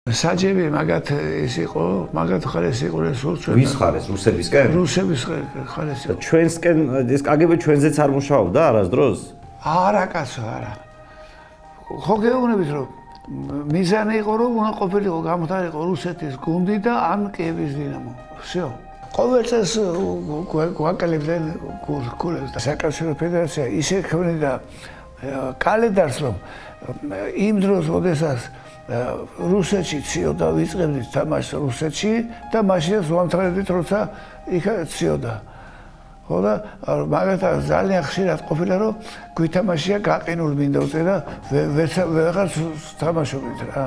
საჯები მაგათ ის იყო, მაგათ ხარეს იყო სულ ჩვენ. ვის ხარეს? რუსებისკენ? რუსების ხარეს იყო. ჩვენსკენ ეს კგბ ჩვენზეც არ მუშაობდა არასდროს? არა კაცო, არა. ხო გეუბნებით რომ მიზანი იყო რომ უნდა ყოფილიყო გამხდარიყო რუსეთის გუნდი და ან კიევის დინამო. всё. ყოველ წელს გვაკლებდნენ გულებს და საკავშირო ფედერაცია ისე ქმნიდა კალენდარს რომ იმ დროს როდესაც რუსეთში ციოდა ვიწყებდით თამაშს რუსეთში და მაშინ ზვანთრედით როცა იქ ციოდა. ხო და მაგათაც ძალიან ხშირად ყოფილა რომ გვითამაშია გაყინულ მინდორზე და ვეღარ თამაშობდით რა.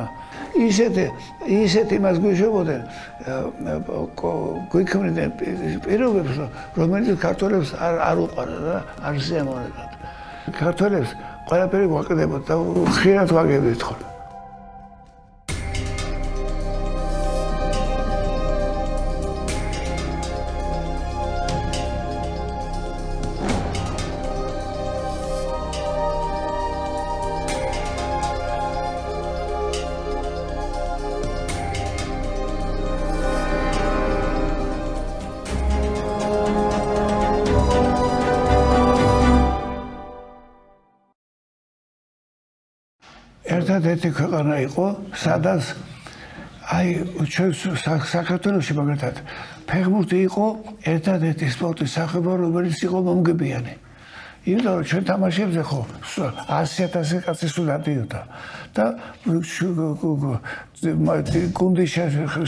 ისეთ იმას გვიშვებოდნენ გვიქმნიდნენ პირობებს რომელიც ქართველებს არ უყვარდა და არ შეამონებდათ. ქართველებს ყველაფერი გვაკდებოდა და ხშირად ვაგებდით ხოლმე. ერთადერთი ქვეყანა იყო, სადაც აი ჩვენ საქართველოში მაგალითად ფეხბურთი იყო ერთადერთი სპორტის სახეობა, რომელიც იყო მომგებიანი. იმიტომ რომ ჩვენ თამაშებზე ხო 100,000 კაცი სულ დადიოდა და გუნდის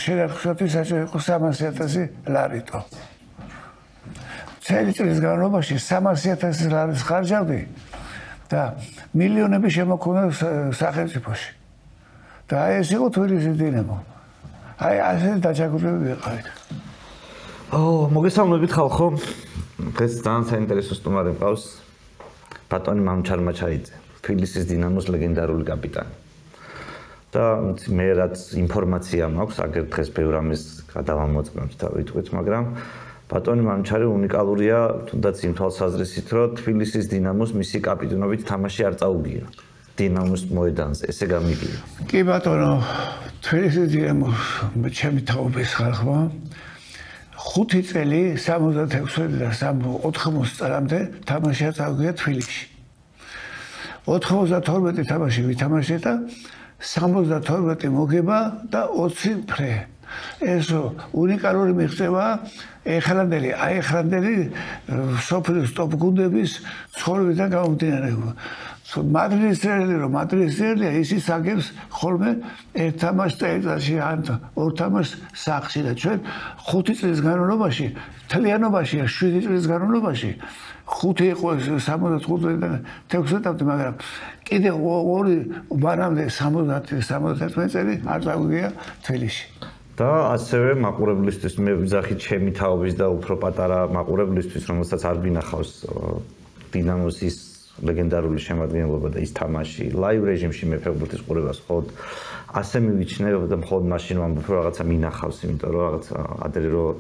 შენარჩუნების საჭირო იყო 300,000 ლარიტო. წელი წლის განმავლობაში 300,000 ლარის ხარჯავდი და მილიონები შემოქონა სახელმწიფოში. და აი ეს იყო თბილისის დინამო. აი ასე დაჯაგრებული ვიყავით. მოგესალმებით ხალხო. დღეს ძალიან საინტერესო სტუმარი მყავს ბატონი მამჩარ მაჩაიძე, თბილისის დინამოს ლეგენდარული კაპიტანი. და მე რაც ინფორმაცია მაქვს, აგერ დღეს ბევრ ამის გადავამოწმებთ და ვიტყვით, მაგრამ ბატონი მამჩარი უნიკალურია, თუნდაც იმ თვალსაზრისით, რომ თბილისის დინამოს მისი კაპიტანობით თამაში არ წაუგია. დინამოს მოედანზე, ესე გამიგია. კი ბატონო, თბილისის დინამოს ჩემი თაობის ხალხმა 5 წელი 66 და 80 წლამდე თამაში წავიდა თბილისში. 92 თამაში ვითამაშე და 72 მოგება და 20 ფრე. ეს უნიკალური მიღწევა ეხლანდელი სოფლის ტოპ გუნდების ცხოვრებიდან გამომდინარეობა. მადრიდის წერილია ისიც აგებს ხოლმე ერთ თამაშს წელიწადში ან ორ თამაშს სახლში და ჩვენ 5 წლის განმავლობაში თლიანობაში 7 წლის განმავლობაში 5 იყო 75-დან 16-მდე, მაგრამ კიდე 2 მანამდე 70-71 წელი არ წავიდა თბილისში. და ასევე მაყურებლისთვის მე ვიძახით ჩემი თაობის და უფრო პატარა მაყურებლისთვის, რომელსაც არ გინახავს დინამოს ის ლეგენდარული შემადგენლობა და ის თამაში ლაივ რეჟიმში მე ფეხბურთის ყურებას ხოდ ასე მივიჩნევ და მხოლოდ მაშინ ვამბობ რომ რაღაცა მინახავს, იმიტომ რომ რაღაცა ადრე რომ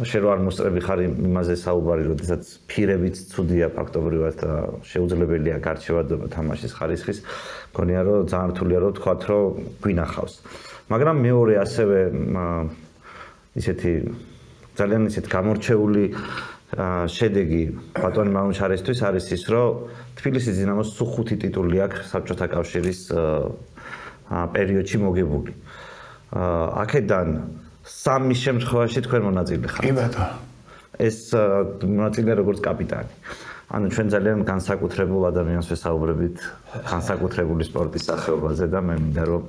შენ არ მოსწრები ხარ იმაზე საუბარი, როდესაც ფირებიც ცუდია ფაქტობრივად და შეუძლებელია გარჩევადობა თამაშის ხარისხის, მგონია რომ ძალიან რთულია რომ თქვათ რომ გვინახავს. მაგრამ მეორე ასევე ისეთი ძალიან ისეთ გამორჩეული შედეგი ბატონი მამჩარისთვის არის ის, რომ თბილისის დინამოს სულ 5 ტიტული აქვს საბჭოთა კავშირის პერიოდში მოგებული. აქედან 3 შემთხვევაში თქვენ მონაწილე ხართ. კი ბატონო. ეს მონაწილე როგორც კაპიტანი. ანუ ჩვენ ძალიან განსაკუთრებულ ადამიანს ვესაუბრებით, განსაკუთრებული სპორტის სახეობაზე და მე მინდა რომ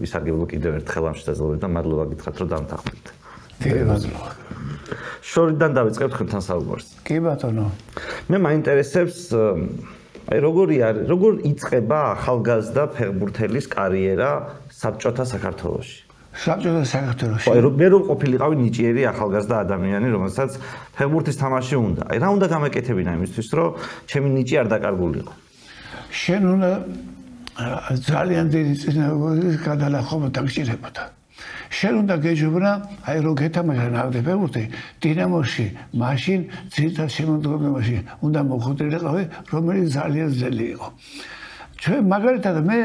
ვისარგებლო კიდევ ერთხელ ამ შესაძლებლობით და მადლობა გითხრათ რომ დამთანხმდით. დიდი მადლობა. შორიდან დავიწყებთ ხმთან საუბარს. კი ბატონო. მე მაინტერესებს აი როგორ იწყება ახალგაზრდა ფეხბურთელის კარიერა საბჭოთა საქართველოში. საბჭოთა საქართველოში. აი მე რომ ყოფილიყავი ნიჭიერი ახალგაზრდა ადამიანი, რომელსაც ფეხბურთის თამაში უნდა. აი რა უნდა გამეკეთებინა იმისთვის, რომ ჩემი ნიჭი არ დაკარგულიყო. შენ უნდა ძალიან დიდი წინააღმდეგობის გადალახობა დაგჭირებოდა. შენ უნდა გეჯობნა, აი რო გეთამაშა ნავთი ფეხბურთი დინამოში, მაშინ ძირითად შემოდგომაში უნდა მოხდრილიყავი, რომელიც ძალიან ძნელი იყო. ჩვენ მაგალითად მე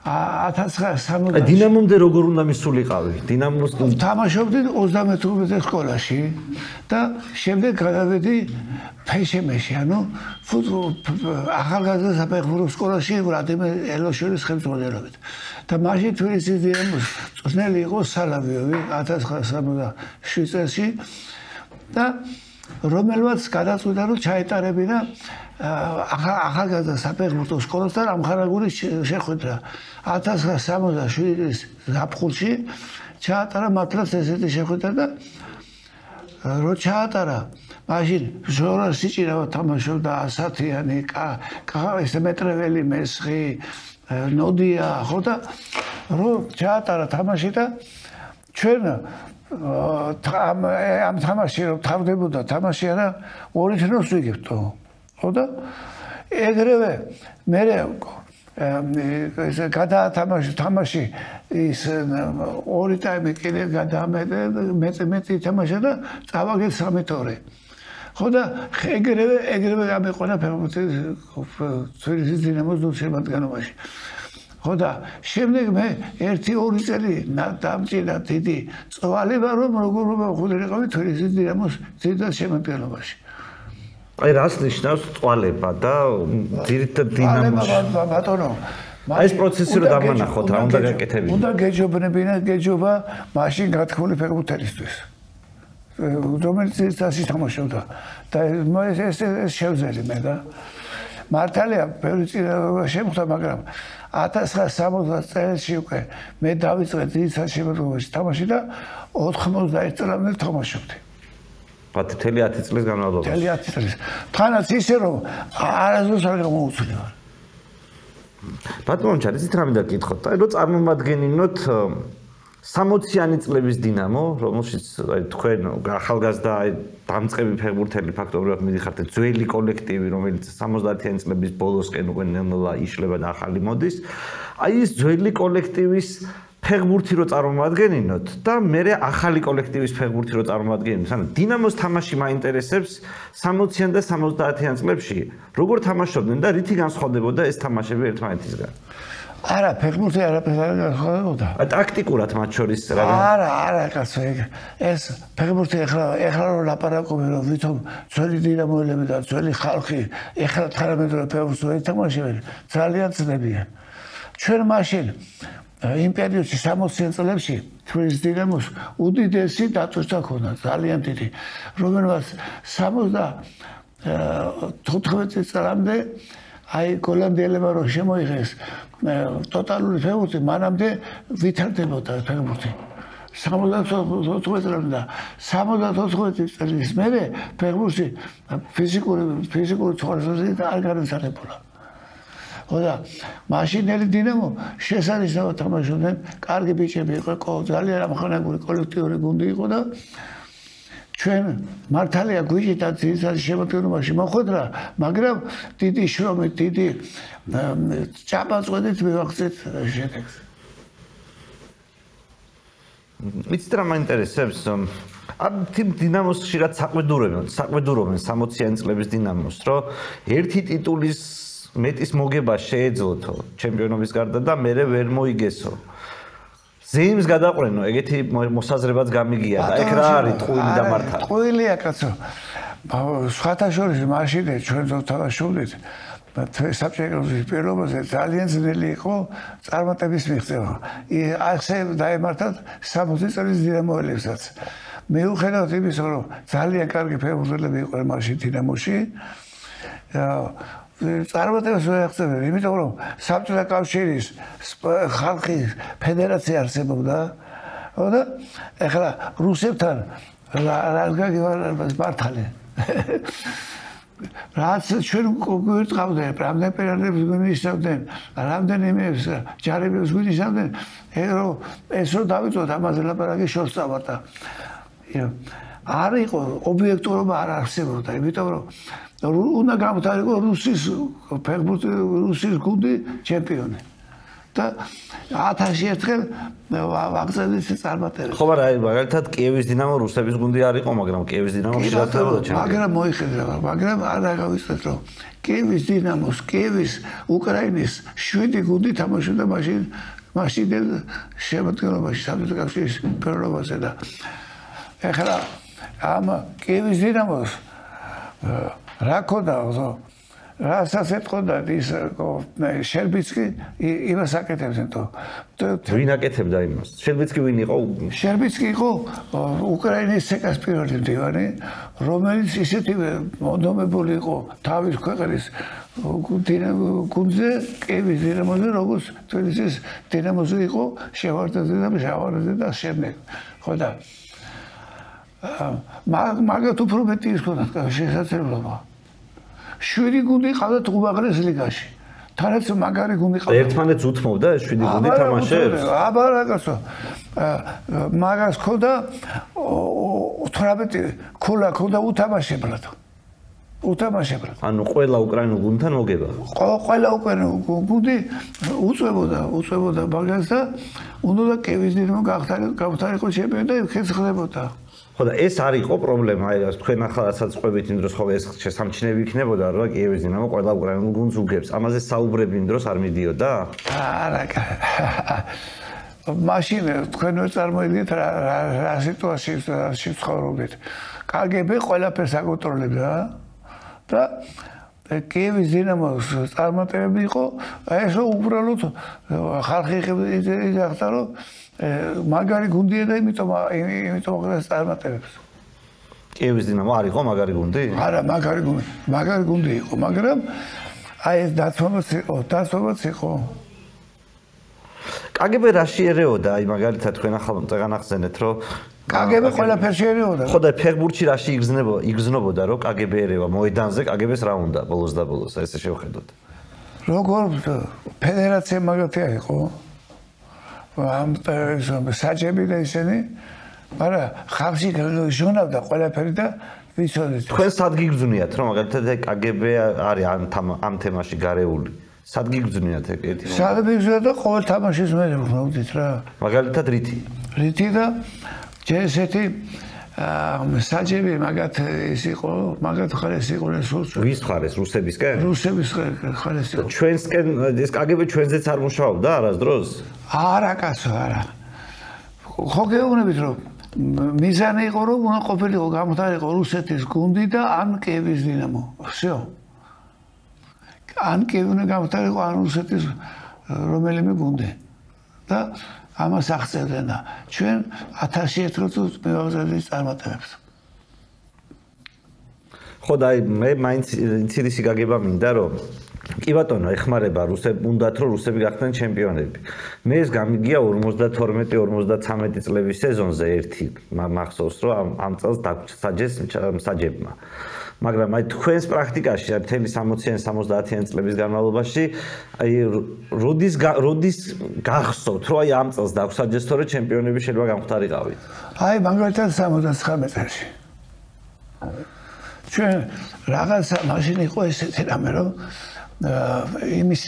1960 დინამომდე როგორ უნდა მისულიყავი? დინამოს თამაშობდი 35 სკოლაში და შემდეგ გადავედი ფეშემეში, ანუ ახალგაზრდა საფეხბურთო სკოლაში ვლადიმერ ელოშვილის ხელმძღვანელობით. და მაშინ თბილისის დინამოს წვრთნელი იყო სალავიოვი 1967 წელს და რომელმაც გადაწყვიტა რომ ჩაეტარებინა ახალგაზრდა საფეხბურთო სკოლასთან ამხარაგური შეხვედრა 1967 წლის ზაფხულში ჩაატარა მართლაც ესეთი შეხვედრა და რო ჩაატარა მაშინ ჟორა სიჭირავად თამაშობდა ასათიანი ეს მეტრეველი მესხი ნოდია ხო და რო ჩაატარა თამაში და ჩვენ ამ თამაში რომ თავდებოდა თამაში არა ორი თნოს ვიგებთო ხო და ეგრევე მე ეს გადაათამაში თამაში ის ორი ტაიმი კიდე გადამეტი თამაშა და წავაგეთ 3-2 ხო და ეგრევე გამეყონა თბილისის დინამოს შემადგენლობაში ხო და შემდეგ მე 1-2 წელი დამჭირდა დიდი წვალება რომ როგორ მოხვდრიყავი თბილისის დინამოს ძირითად შემადგენლობაში აი რას ნიშნავს წვალება და ძირითად დინამოს ბატონო ეს პროცესი რომ დამანახოთ რა უნდა გაკეთებინა უნდა გეჯობნებინა გეჯობა მაშინ გათქმული ფეხბურთელისთვის რომელიც წასი თამაშობდა და ეს შევძელი მე და მართალია ბევრი წინა შემხვდა მაგრამ 1960 წელს უკვე მე დავიწყე ძირითად შემადგენლობაში თამაში და 91 წლამდე თამაშობდი მთელი 10 წლის განმავლობაში. მთელი 10 წლის. თანაც ისე რომ არასდროს არ გამოუცვლი ვარ. ბატონო ჩარ, ისიც რამე დაკითხოთ. აი რო წარმომადგენინოთ 60-იანი წლების დინამო, რომელშიც აი თქვენ ახალგაზრდა დამწყები ფეხბურთელი ფაქტობრივად მიდიხართ ძველი კოლექტივი, რომელიც 70-იანი წლების ბოლოსკენ უკვე ნელ-ნელა იშლება და ახალი მოდის. აი ეს ძველი კოლექტივის ფეხბურთი რო წარმომადგენინოთ და მე ახალი კოლექტივის ფეხბურთი რო წარმომადგენინოთ, ანუ დინამოს თამაში მაინტერესებს 60-იან და 70-იან წლებში, როგორ თამაშობდნენ და რითი განსხვავდებოდა ეს თამაშები ერთმანეთისგან? არა, ფეხბურთი არაფერს არ განსხვავდებოდა. ტაქტიკურად მათ შორის რა? არა, კაცო, ეს ფეხბურთი ეხლა რო ლაპარაკობენ, რომ ვითომ ძველი დინამოელები და ძველი ხალხი ეხლა თანამედროვე ფეხბურთს ეთამაშებენ, ძალიან ძნებიან. ჩვენ მაშინ იმ პერიოდში 60-იან წლებში თბილისის დინამოს უდიდესი დატვირთვა ჰქონდა, ძალიან დიდი, რომელმაც 74 წლამდე აი გოლანდიელებმა რო შემოიღეს ტოტალური ფეხბურთი, მანამდე ვითარდებოდა ფეხბურთი. 74 წლამდე და 74 წლის მერე ფეხბურთი ფიზიკური თვალსაზრისით არ განვითარებულა. ხო და მაშინელი დინამო შესანიშნავად თამაშობდნენ, კარგი ბიჭები იყო, ძალიან ამხანაგური კოლექტიური გუნდი იყო და ჩვენ მართალია გვიჭირდა ძირითადად შემადგენლობაში მოხვედრა, მაგრამ დიდი შრომით, დიდი ჭაბაწყვეტით მივახცეთ შედეგს. იცით რა მაინტერესებს? ამ დინამოს ხშირად საყვედურობენ 60-იანი წლების დინამოს, რომ ერთი ტიტულის მეტის მოგება შეეძლოთო ჩემპიონობის გარდა და მე ვერ მოიგესო. ზეიმს გადაყრენო, ეგეთი მოსაზრებაც გამიგია და ეგ რა არის ტყუილი და მართალი? ტყუილია კაცო. სხვათა შორის მაშინ ჩვენ თამაშობდით საბჭოების პირობაზე ძალიან ძნელი იყო წარმატების მიღწევა. ასე დაემართათ 60 წლის დინამოელებსაც. მიუხედავად იმისა, რომ ძალიან კარგი ფეხბურთელები იყვნენ მაშინ დინამოში, წარმატებას ვერ აღწევენ, იმიტომ რომ საბჭოთა კავშირის ხალხის ფედერაცია არსებობდა, ხო და ეხლა რუსებთან რა გაგივარებას მართალი. რაც ჩვენ გვირწყავდნენ, რამდენ პერიოდებს გვინიშნავდნენ, რამდენიმე ჯარებს გვინიშნავდნენ, ეს რო დავიწყოთ ამაზე ლაპარაკი შორს წავარდა. არ იყო ობიექტურობა არ არსებობდა, იმიტომ რომ უნდა გამოვთარიყო რუსის ფეხბურთი, რუსის გუნდი ჩემპიონი. და 1000 ერთხელ ვაგზავნის წარმატებებს. ხო, მაგრამ მაგალითად კიევის დინამო რუსების გუნდი არ იყო, მაგრამ კიევის დინამო შეერთებოდა ჩემს. მაგრამ მოიხედა, მაგრამ არ დაგავიწყეთ, რომ კიევის დინამოს, კიევის უკრაინის 7 გუნდი თამაშობდა მაშინ შემოდგენობაში საბჭოთა კავშირის პირველობაზე და ეხლა ამ კიევის დინამოს რა ქონდა რასაც ეთქოდა ის შერბიცკი იმას აკეთებდნენ თო ვინ აკეთებდა იმას შერბიცკი ვინ იყო შერბიცკი იყო უკრაინის ცეკას პირველი მდივანი რომელიც ისეთივე მონდომებული იყო თავის ქვეყნის გუნდზე კიევის დინამოზე როგორც თბილისის დინამოზე იყო შევარდნაძე და შემდეგ ხო და მაგათ უფრო მეტი ის ქონდა შესაძლებლობა 7 გუნდი ყავდათ უმაღლეს ლიგაში. თანაც მაგარი გუნდი ყავდა. ერთმანეთს უთმობდა ეს 7 გუნდი თამაშებს? აბა რაგაცო. მაგას ქონდა 18 ქულა ქონდა უთამაშებლად. ანუ ყველა უკრაინულ გუნდთან მოგება. ყველა უკრაინულ გუნდი უწევოდა მაგას და უნდა კიევის დინამო გავხდარიყო ჩემპიონი და იქაც ხდებოდა. ხო და ეს არ იყო პრობლემა, აი თქვენ ახლა რასაც ყვებით იმ დროს ხო ეს შესამჩნევი იქნებოდა რომ კიევის დინამო ყველა უკრაინულ გუნდს უგებს. ამაზე საუბრები იმ დროს არ მიდიოდა? არა. მაშინ თქვენ ვერ წარმოიდგინეთ რა სიტუაციაში ცხოვრობთ. KGB ყველაფერს აკონტროლებდა და კიევის დინამოს წარმატებები იყო, ეს უბრალოდ ხალხი იღახდა რომ მაგარი გუნდია და იმიტომ აღარ წარმატებებს. კიევის დინამო არ იყო მაგარი გუნდი? არა, მაგარი გუნდი იყო, მაგრამ აი ეს დაცვამაც იყო. KGB რა შეერეოდა? აი მაგალითად თქვენ ახლა წეგან ახსენეთ, რომ KGB ყველაფერს შეერეოდა. ხო და ფეხბურთში რაში იგრძნობოდა, რომ KGB ერევა მოედანზე, KGB-ს რა უნდა ბოლოს და ბოლოს, ესე შევხედოთ. როგორ ფედერაცია მაგათია იყო? ამ საჯები და ისინი, მაგრამ ხალხი ჟონავდა ყველაფერი და ვიცოდეთ. თქვენ სად გიგრძნიათ, რომ მაგალითად KGB არის ამ თემაში გარეული? სად გიგრძნიათ ერთი? სად გიგრძნიათ და ყოველ თამაშის მე ვხდით რა. მაგალითად რითი? რითი და ესეთი საჯები მაგათ ის იყო, მაგათ ხარეს იყო სულს. ვის ხარეს? რუსებისკენ? რუსების ხარეს იყო. ჩვენსკენ ეს KGB ჩვენზეც არ მუშაობდა არასდროს? არა კაცო, არა. ხო გეუბნებით რომ მიზანი იყო რომ უნდა ყოფილიყო გამხდარიყო რუსეთის გუნდი და ან კიევის დინამო. всё. ან კიევი გამხდარიყო ან რუსეთის რომელიმე გუნდი. და ამას აღწევდნენ და ჩვენ 1000 ერთხელ მივაღწევთ წარმატებებს. ხო და მე მაინც ინციდისი გაგება მინდა რომ კი ბატონო ეხმარება რუსები უნდათ რომ რუსები გახდნენ ჩემპიონები. მე ეს გამიგია 52-53 წლების სეზონზე ერთი მახსოვს რომ ამ წელს დაგსაჯეს საჯებმა. მაგრამ აი თქვენს პრაქტიკაში მთელი 60-იან 70-იან წლების განმავლობაში აი როდის გახსოვთ რომ აი ამ წელს დაგსაჯეს თორე ჩემპიონები შეიძლება გამხდარიყავით? აი მაგალითად 79 წელს. ჩვენ რაღაცა მაშინ იყო ესეთი რამე რომ იმის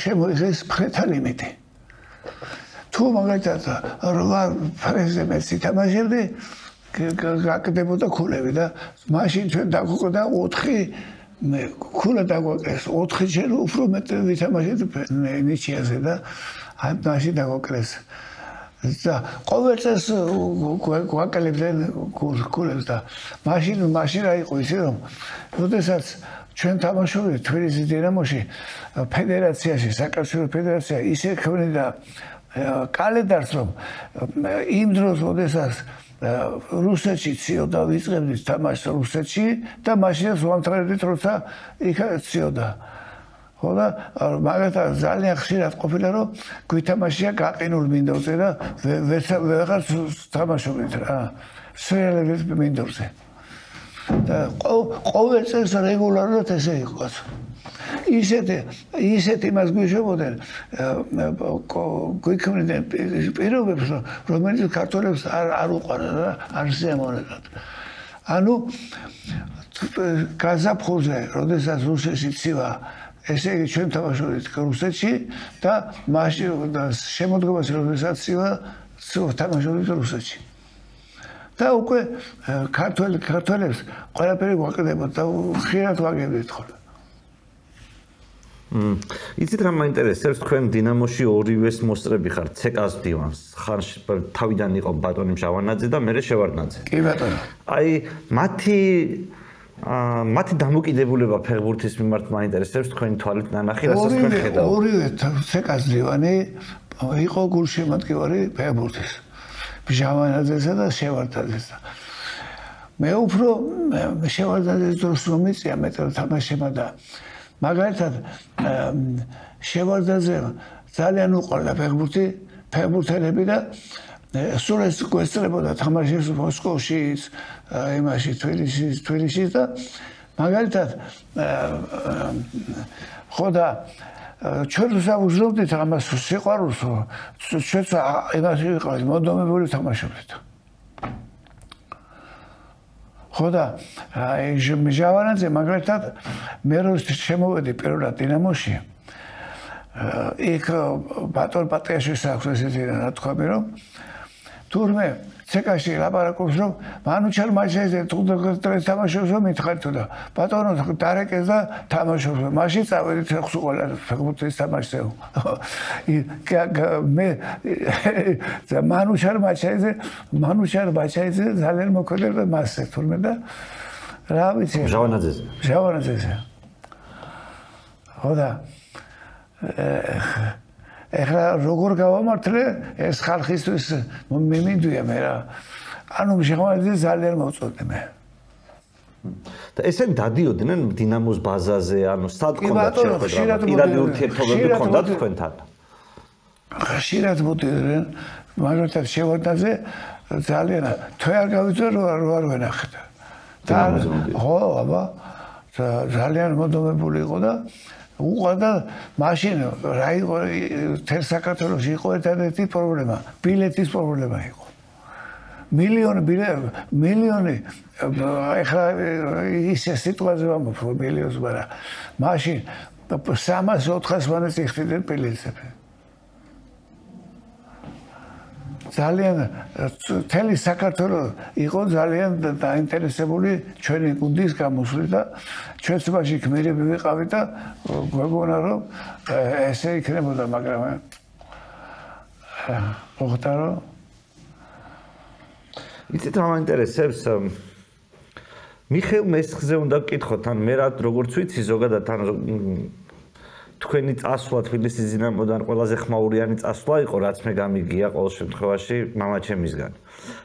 შემოიღეს ფრეთა ლიმიტი. თუ მაგალითად 8 ფრეზე მეც ითამაშებდი გაკდებოდა ქულები და მაშინ ჩვენ დაგვყდა 4 ქულა დაგვაკეს 4 ჯერ უფრო მეტი ვითამაშეთ ნიჩიაზე და მაშინ დაგვაკეს და ყოველ წელს გვაკლებდნენ ქულებს და მაშინ რა იყო ისე რომ როდესაც ჩვენ თამაშობდით თბილისის დინამოში ფედერაციაში საკავშირო ფედერაცია ისე ქმნიდა კალენდარს რომ იმ დროს როდესაც რუსეთში ციოდა ვიწყებდით თამაშს რუსეთში და მაშინაც ვამთავრებდით როცა იქ ციოდა. ხო და მაგათაც ძალიან ხშირად ყოფილა რომ გვითამაშია გაყინულ მინდორზე და ვეღარ თამაშობდით რა. სრიალებით მინდორზე. და ყოველ წელს რეგულარულად ესე იყო. ისეთ იმას გვიშვებოდნენ გვიქმნიდნენ პირობებს რომელიც ქართველებს არ უყვარდა და არ შეემონებათ. ანუ გაზაფხულზე, როდესაც რუსეთში ცივა ესე იგი ჩვენ თამაშობთ რუსეთში და მაშინ შემოდგომას როდესაც თამაშობთ რუსეთში. და უკვე ქართველებს ყველაფერი გვაკლდებოდა და ხშირად ვაგებდით ხოლმე. იცით რა მაინტერესებს თქვენ დინამოში ორივეს მოსწრები ხართ ცეკას დივანს ხან თავიდან იყო ბატონი მჟავანაძე და მერე შევარდნაძე კი ბატონო აი მათი დამოკიდებულება ფეხბურთის მიმართ მაინტერესებს თქვენი თვალით ნანახი რასაც თქვენ ხედავთ ორივე ცეკას დივანი იყო გულშემატკივარი ფეხბურთის მჟავანაძესა და შევარდნაძესა მე უფრო შევარდნაძეს დროს მომიწია მეტად თამაშება და მაგალითად შევარდნაძე ძალიან უყვარდა ფეხბურთელები და სულ ეს გვესწრებოდა თამაშებს მოსკოვშიც, იმაში თბილისში და მაგალითად ხო და ჩვენ ვსაუბრობდით ამას სიყვარულს ჩვენც იმაში ვიყავით მონდომებული თამაშობდით ხო და მჟავანაძე მაგალითად მე რო შემოვედი პირველად დინამოში იქ ბატონ პატრიაშვილს აქვს ესეთი ნათქვამი რომ თურმე ცეკაში ლაპარაკობს რომ მანუჩარ მაჩეზე თუ თამაშობს რომ მითხარით და ბატონო დარეკეს და თამაშობს მაშინ წავედით ყველა ფეხბურთის თამაშზე მე მანუჩარ მაჩეზე ძალიან მოქმედებდა მასზე თურმე და რა ვიცი ჟავანაძეზე ხო და ეხლა როგორ გავამართლე ეს ხალხისთვის მიმინდვია მე რა ანუ ჟავანაძე ძალიან მოწოდე მე და ესენ დადიოდნენ დინამოს ბაზაზე ანუ სად გქონდათ შეხვედრა პირადი ურთიერთობები გქონდათ თქვენთან ხშირად მოდიდნენ მაგალითად შევარდნაძე ძალიან თვე არ გავიწევ რო არ ვენახეთ და ხო აბა ძალიან მოდომებული იყო და უყვარდა მაშინ რა იყო თელ საქართველოში იყო ერთადერთი პრობლემა ბილეთის პრობლემა იყო მილიონი ეხლა ისე სიტყვაზე ვამბობ მილიონს მაგრამ მაშინ 300-400 მანაც იხდიდნენ ბილეთები ძალიან თელი საქართველოს იყო ძალიან დაინტერესებული ჩვენი გუნდის გამოსვლით და ჩვენც მაშინ გმირები ვიყავით და გვეგონა რომ ესე იქნებოდა მაგრამ მოხდა რომ იცით რა მაინტერესებს მიხეილ მესხზე უნდა ვკითხოთ ან მე როგორც ვიცი ზოგადად ან თქვენი წასვლა თბილისის დინამოდან ყველაზე ხმაურიანი წასვლა იყო რაც მე გამიგია ყოველ შემთხვევაში მამაჩემისგან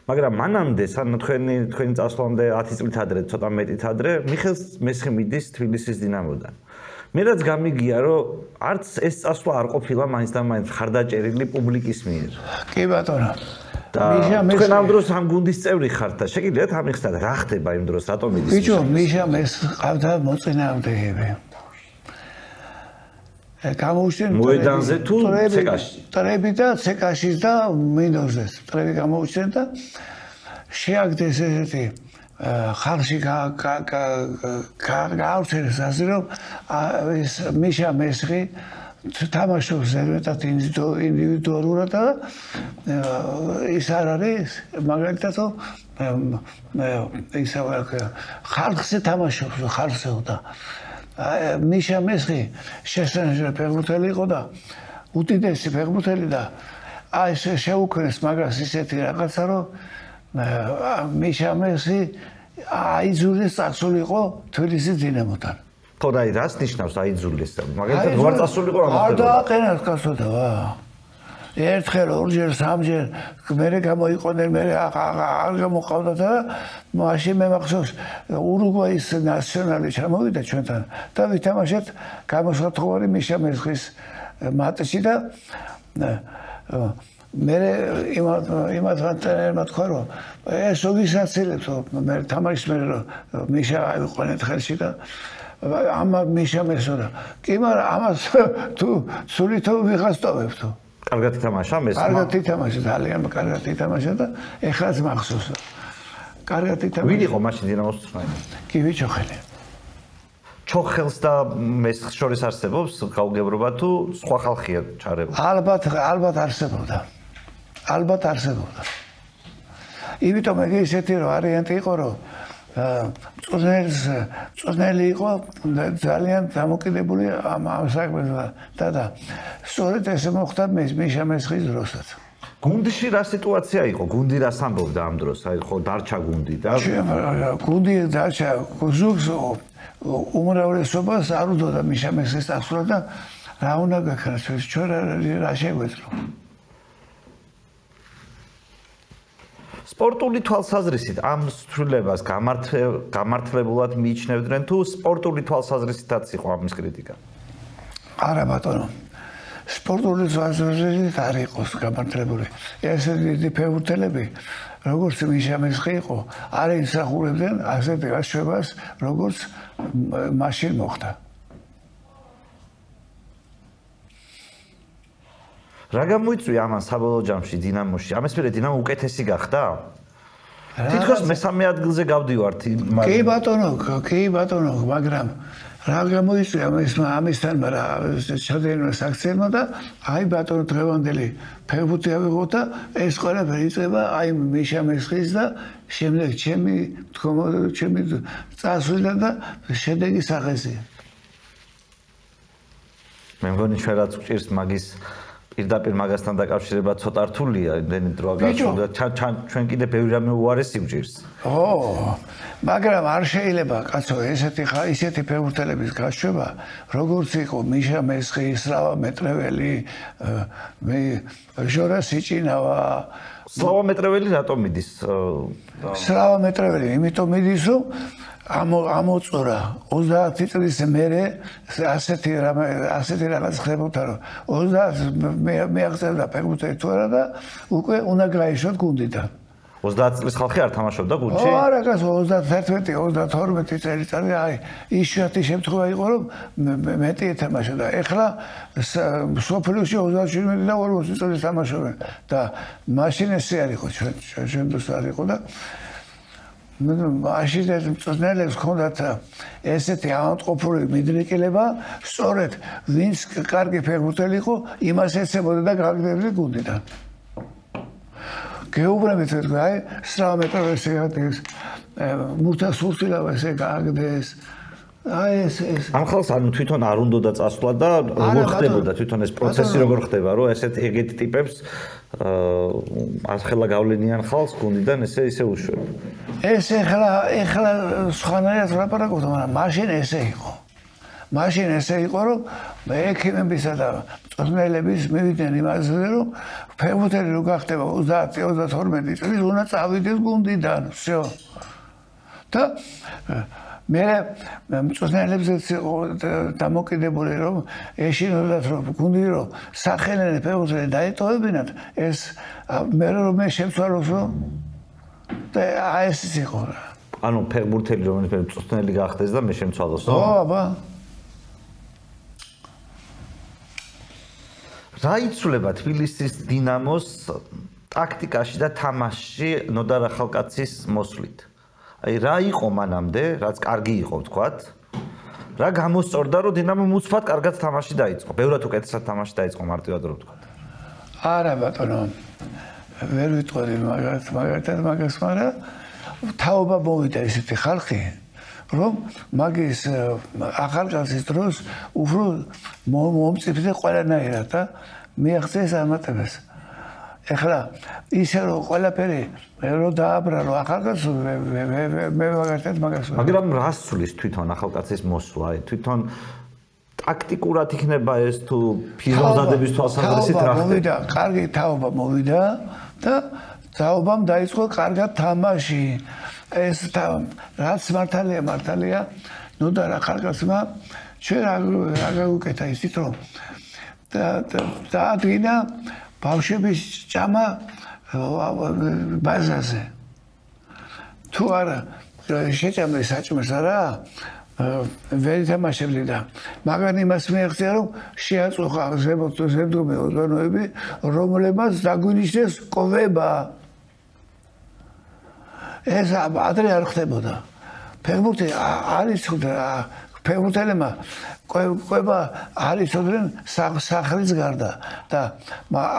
მაგრამ მანამდე სანამ თქვენი წასვლამდე 10 წლით ადრე ცოტა მეტით ადრე მიხეილ მესხი მიდის თბილისის დინამოდან მე რაც გამიგია რომ არც ეს წასვლა არ ყოფილა მაინც და მაინც ხარდაჭერილი პუბლიკის მიერ კი ბატონო და თქვენ ამ დროს ამ გუნდის წევრი ხართ და შეგიძლიათ ამიხსნათ რა ხდება იმ დროს რატომ მიდის ბიჭო მიშა მეს ყავდა მოწინააღმდეგეები გამოუჩენ მოედანზე თუ ცეკაში ტრები და ცეკაში და მინდორზე ტრები გამოუჩენ და შეაგდეს ესეთი ხალხი გაავრცელეს ასე რომ ეს მიშა მესხი თამაშობს ზერმეტად ინდივიდუალურად და ის არ არის მაგალითად ის ხალხზე თამაშობს ხალხზე და მიშა მესხი შესაძლოა ფეხბურთელი იყო და უდიდესი ფეხბურთელი და აი ეს შეუქმნეს მაგას ისეთი რაღაცა რომ მიშა მესხი აიძულეს წასულიყო თბილისის დინამოდან ხო და რას ნიშნავს აიძულეს მაგალითად ვარ წასულიყო ამას არ დააყენათ კაცოთა ერთხელ ორჯერ სამჯერ მერე გამოიყოდნენ მერე არ გამოყავდა და მაშინ მე მახსოვს ურუგვაის ნაციონალი ჩამოვიდა ჩვენთან და ვითამაშეთ გამოსათხოვარი მიშა მესხის მატჩი და მე იმათ ტრენერმა თქვა რომ ეს ვისაცილებს მე თამაშის მე მიშა აიყვანეთ ხელში და ამა მიშა მესხა კი მაგრამ ამას თუ სულითო ვიღასტოვებ თუ კარგად ითამაშა მესხმა კარგად ითამაშა ძალიან კარგად ითამაშა და ეხლაც მახსოვს კარგად ითამაშა ვინ იყო მაშინ დინამოს წვრთნელი კი ვიჩოხელი ჩოხელს და მესხს შორის არსებობს გაუგებრობა თუ სხვა ხალხია ჩარებული? ალბათ არსებობდა. ალბათ არსებობდა. იმიტომ მე ისეთი ვარიანტი იყო, რომ წვნელი იყო ძალიან დამოკიდებული ამ საქმეზე და სწორედ ესე მოხდა მიშა მესხის დროსაც. გუნდში რა სიტუაცია იყო? გუნდი რას ამბობდა ამ დროს? აი ხო დარჩა გუნდი და გუნდი დარჩა ზუგს უმრავლესობას არ უდოდა მიშა მესხის წასვლა და რა უნდა გაქნას ჩვენ რა შეგვეძლო. სპორტული თვალსაზრისით ამ ცვლილებას გამართლებულად მიიჩნევდნენ თუ სპორტული თვალსაზრისითაც იყო ამის კრიტიკა? არა ბატონო. სპორტული თვალსაზრისით არ იყოს გამართლებული. ესეთი დიდი ფეხბურთელები, როგორც მიშა მესხი იყო, არ ისახურებდნენ ასეთ გაშვებას, როგორც მაშინ მოხდა. რა გამოიწვია ამან საბოლოო ჯამში დინამოში? ამის მერე დინამო უკეთესი გახდა? თითქოს მესამე ადგილზე გავდივართ. კი ბატონო, მაგრამ რა გამოიწვია ამისთან ჩადენილ საქციელმა და აი ბატონო დღევანდელი ფეხბურთი ავიღოთ და ეს ყველაფერი იწყება აი მიშა მესხის და შემდეგ ჩემი წასვლიდან და შედეგი სახეზია. მე მგონი ჩვენ რაც გვჭირს მაგის პირდაპირ მაგასთან დაკავშირება ცოტა რთულია, იმდენი დრო გასულა ჩვენ კიდე ბევრი რამე უარესი გვჭირს. მაგრამ არ შეიძლება კაცო ისეთი ფეხბურთელების გაშვება, როგორც იყო მიშა მესხი, სლავა მეტრეველი, ჟორა სიჭინავა. სლავა მეტრეველი რატომ მიდის? სლავა მეტრეველი იმიტომ მიდის, რომ ამოწურა 30 წლის მერე ასეთი რაღაც ხდებოდა, რომ 30 მეაღწევდა ფეხბურთელი თუ არა და უკვე უნდა გაეშოთ გუნდიდან. 30 წლის ხალხი არ თამაშობდა გუნდში? არა, კაცო 31-32 წელიწადი აი იშვიათი შემთხვევა იყო, რომ მეტი ეთამაშოდა. ეხლა სოფლიოში 37 და 40 წელი თამაშობენ და მაშინ ესე არ იყო ჩვენ დროს არ იყო და მაშინ ეს მწვრთნელებს ჰქონდათ ესეთი ავადმყოფური მიდრეკილება, სწორედ ვინც კარგი ფეხბურთელი იყო, იმას ეცებოდა და გაგდებდა გუნდიდან. გეუბნებით თქვა, აი, სლავა მეტრეველი ეგრეს მურთა სულწილავას ეგაგდეს. აი ეს ამ ხალხს ანუ თვითონ არ უნდოდა წასვლა და როგორ ხდებოდა თვითონ ეს პროცესი როგორ ხდება, რომ ეგეთ ტიპებს ახლა გავლენიან ხალხს გუნდიდან ისე უშვებ. ეს ეხლა სხვანაირად ვლაპარაკობთ, მაგრამ მაშინ ესე იყო. მაშინ ესე იყო, რომ ექიმებისა და მწვრთნელების მივიდნენ იმაზე, რომ ფეხბურთელი რო გახდება 30-32 წლის უნდა წავიდეს გუნდიდან, всё. და მე მწვრთნელებზეც დამოკიდებული რომ ეშინოდათ რომ გუნდი რომ სახელმწიფო ფეხბურთელი დაეტოვებინათ ეს მე რომ შემცვალოს რომ და ეს იყო. ანუ ფეხბურთელი რომელიც მწვრთნელი გახდეს და მე შემცვალოს. ო, აბა. რა იცვლება თბილისის დინამოს ტაქტიკაში და თამაშში ნოდარ ახალკაცის მოსვლით? აი რა იყო მანამდე, რაც კარგი იყო ვთქვათ? რა გამოსწორდა რომ დინამო უცბად კარგად თამაში დაიწყო? ბევრად უკეთესად თამაში დაიწყო მარტივად რო ვთქვათ. არა ბატონო. ვერ ვიტყვი მაგათაც მაგას, მაგრამ თაობა მოვიდა ესეთი ხალხი, რომ მაგის ახალგაზრდის დროს უფრო მომწიფდა ყველანაირად და მიაღწიეს ამატებას. ეხლა ისე რომ ყველაფერი რო დააბრა რომ ახალგაზრდს მე მაგათაც მაგას. მაგრამ რას ცulis თვითონ ახალკაცის მოსვლა? თვითონ ტაქტიკურად იქნება ეს თუ ფიზიოლოგიების თვალსაზრისით რა ხდება? კარგი თაობა მოვიდა და თაობამ დაიწყო კარგად თამაში. ეს რაც მართალია ნოდარ ახალგაზრდმა ჩვენ რა გაუკეთა ისიც რომ დაადგინა ბავშვების ჭამა ბაზაზე. თუ არა შეჭამდა საჭმელს არა ვერ ითამაშებდი და მაგრამ იმას მიაღწია რომ შეაწუხა ზემდომი ორგანოები რომლებმაც დაგვინიშნეს კოვება. ეს ადრე არ ხდებოდა. ფეხბურთი არის ფეხბურთელებმა ყვება არ იცოდნენ სახლის გარდა და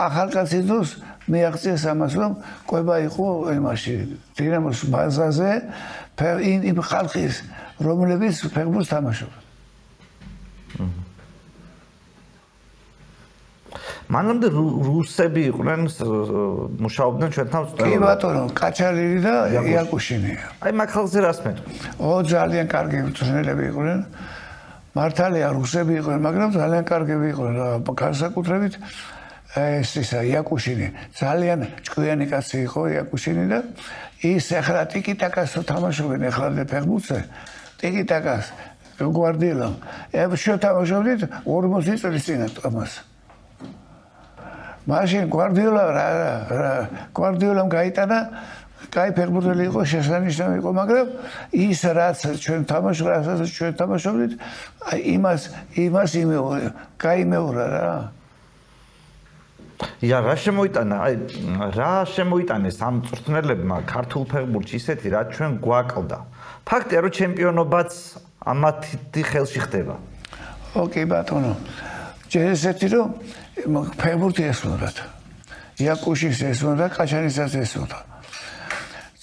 ახალგაზრდის დროს მიაღწიეს ამას რომ ყვება იყო იმაში დინამოს ბაზაზე იმ ხალხის რომლებიც ფეხბურთს თამაშობდნენ. მანამდე რუსები იყვნენ მუშაობდნენ ჩვენთან კი ბატონო კაჩალინი და იაკუშინი. აი მაგ ხალხზე რას მეტყვი? ძალიან კარგი მწვრთნელები იყვნენ. მართალია რუსები იყვნენ, მაგრამ ძალიან კარგები იყვნენ. განსაკუთრებით ეს ისა იაკუშინი ძალიან ჭკვიანი კაცი იყო იაკუშინი და ის ახლა ტიკიტაკას თამაშობენ ახლა ფეხბურთზე. ტიკიტაკას გვარდიოლა. შეთამაშობდით 40 წლის წინ ამას. მაშინ გვარდიოლამ გაიტანა, კაი ფეხბურთელი იყო, შესანიშნავი იყო, მაგრამ ის რაც ჩვენ თამაშობდით, იმას გაიმეორა რა. რა შემოიტანეს ამ მწვრთნელებმა ქართულ ფეხბურთში ისეთი, რაც ჩვენ გვაკლდა. ფაქტია, რომ ჩემპიონობაც ამათი ხელში ხდება. ოკეი ბატონო. ჯერ ესეთი რომ ფეხბურთი ესმოდათ. იაკუშის ესმოდა, კაჩანისაც ესმოდა.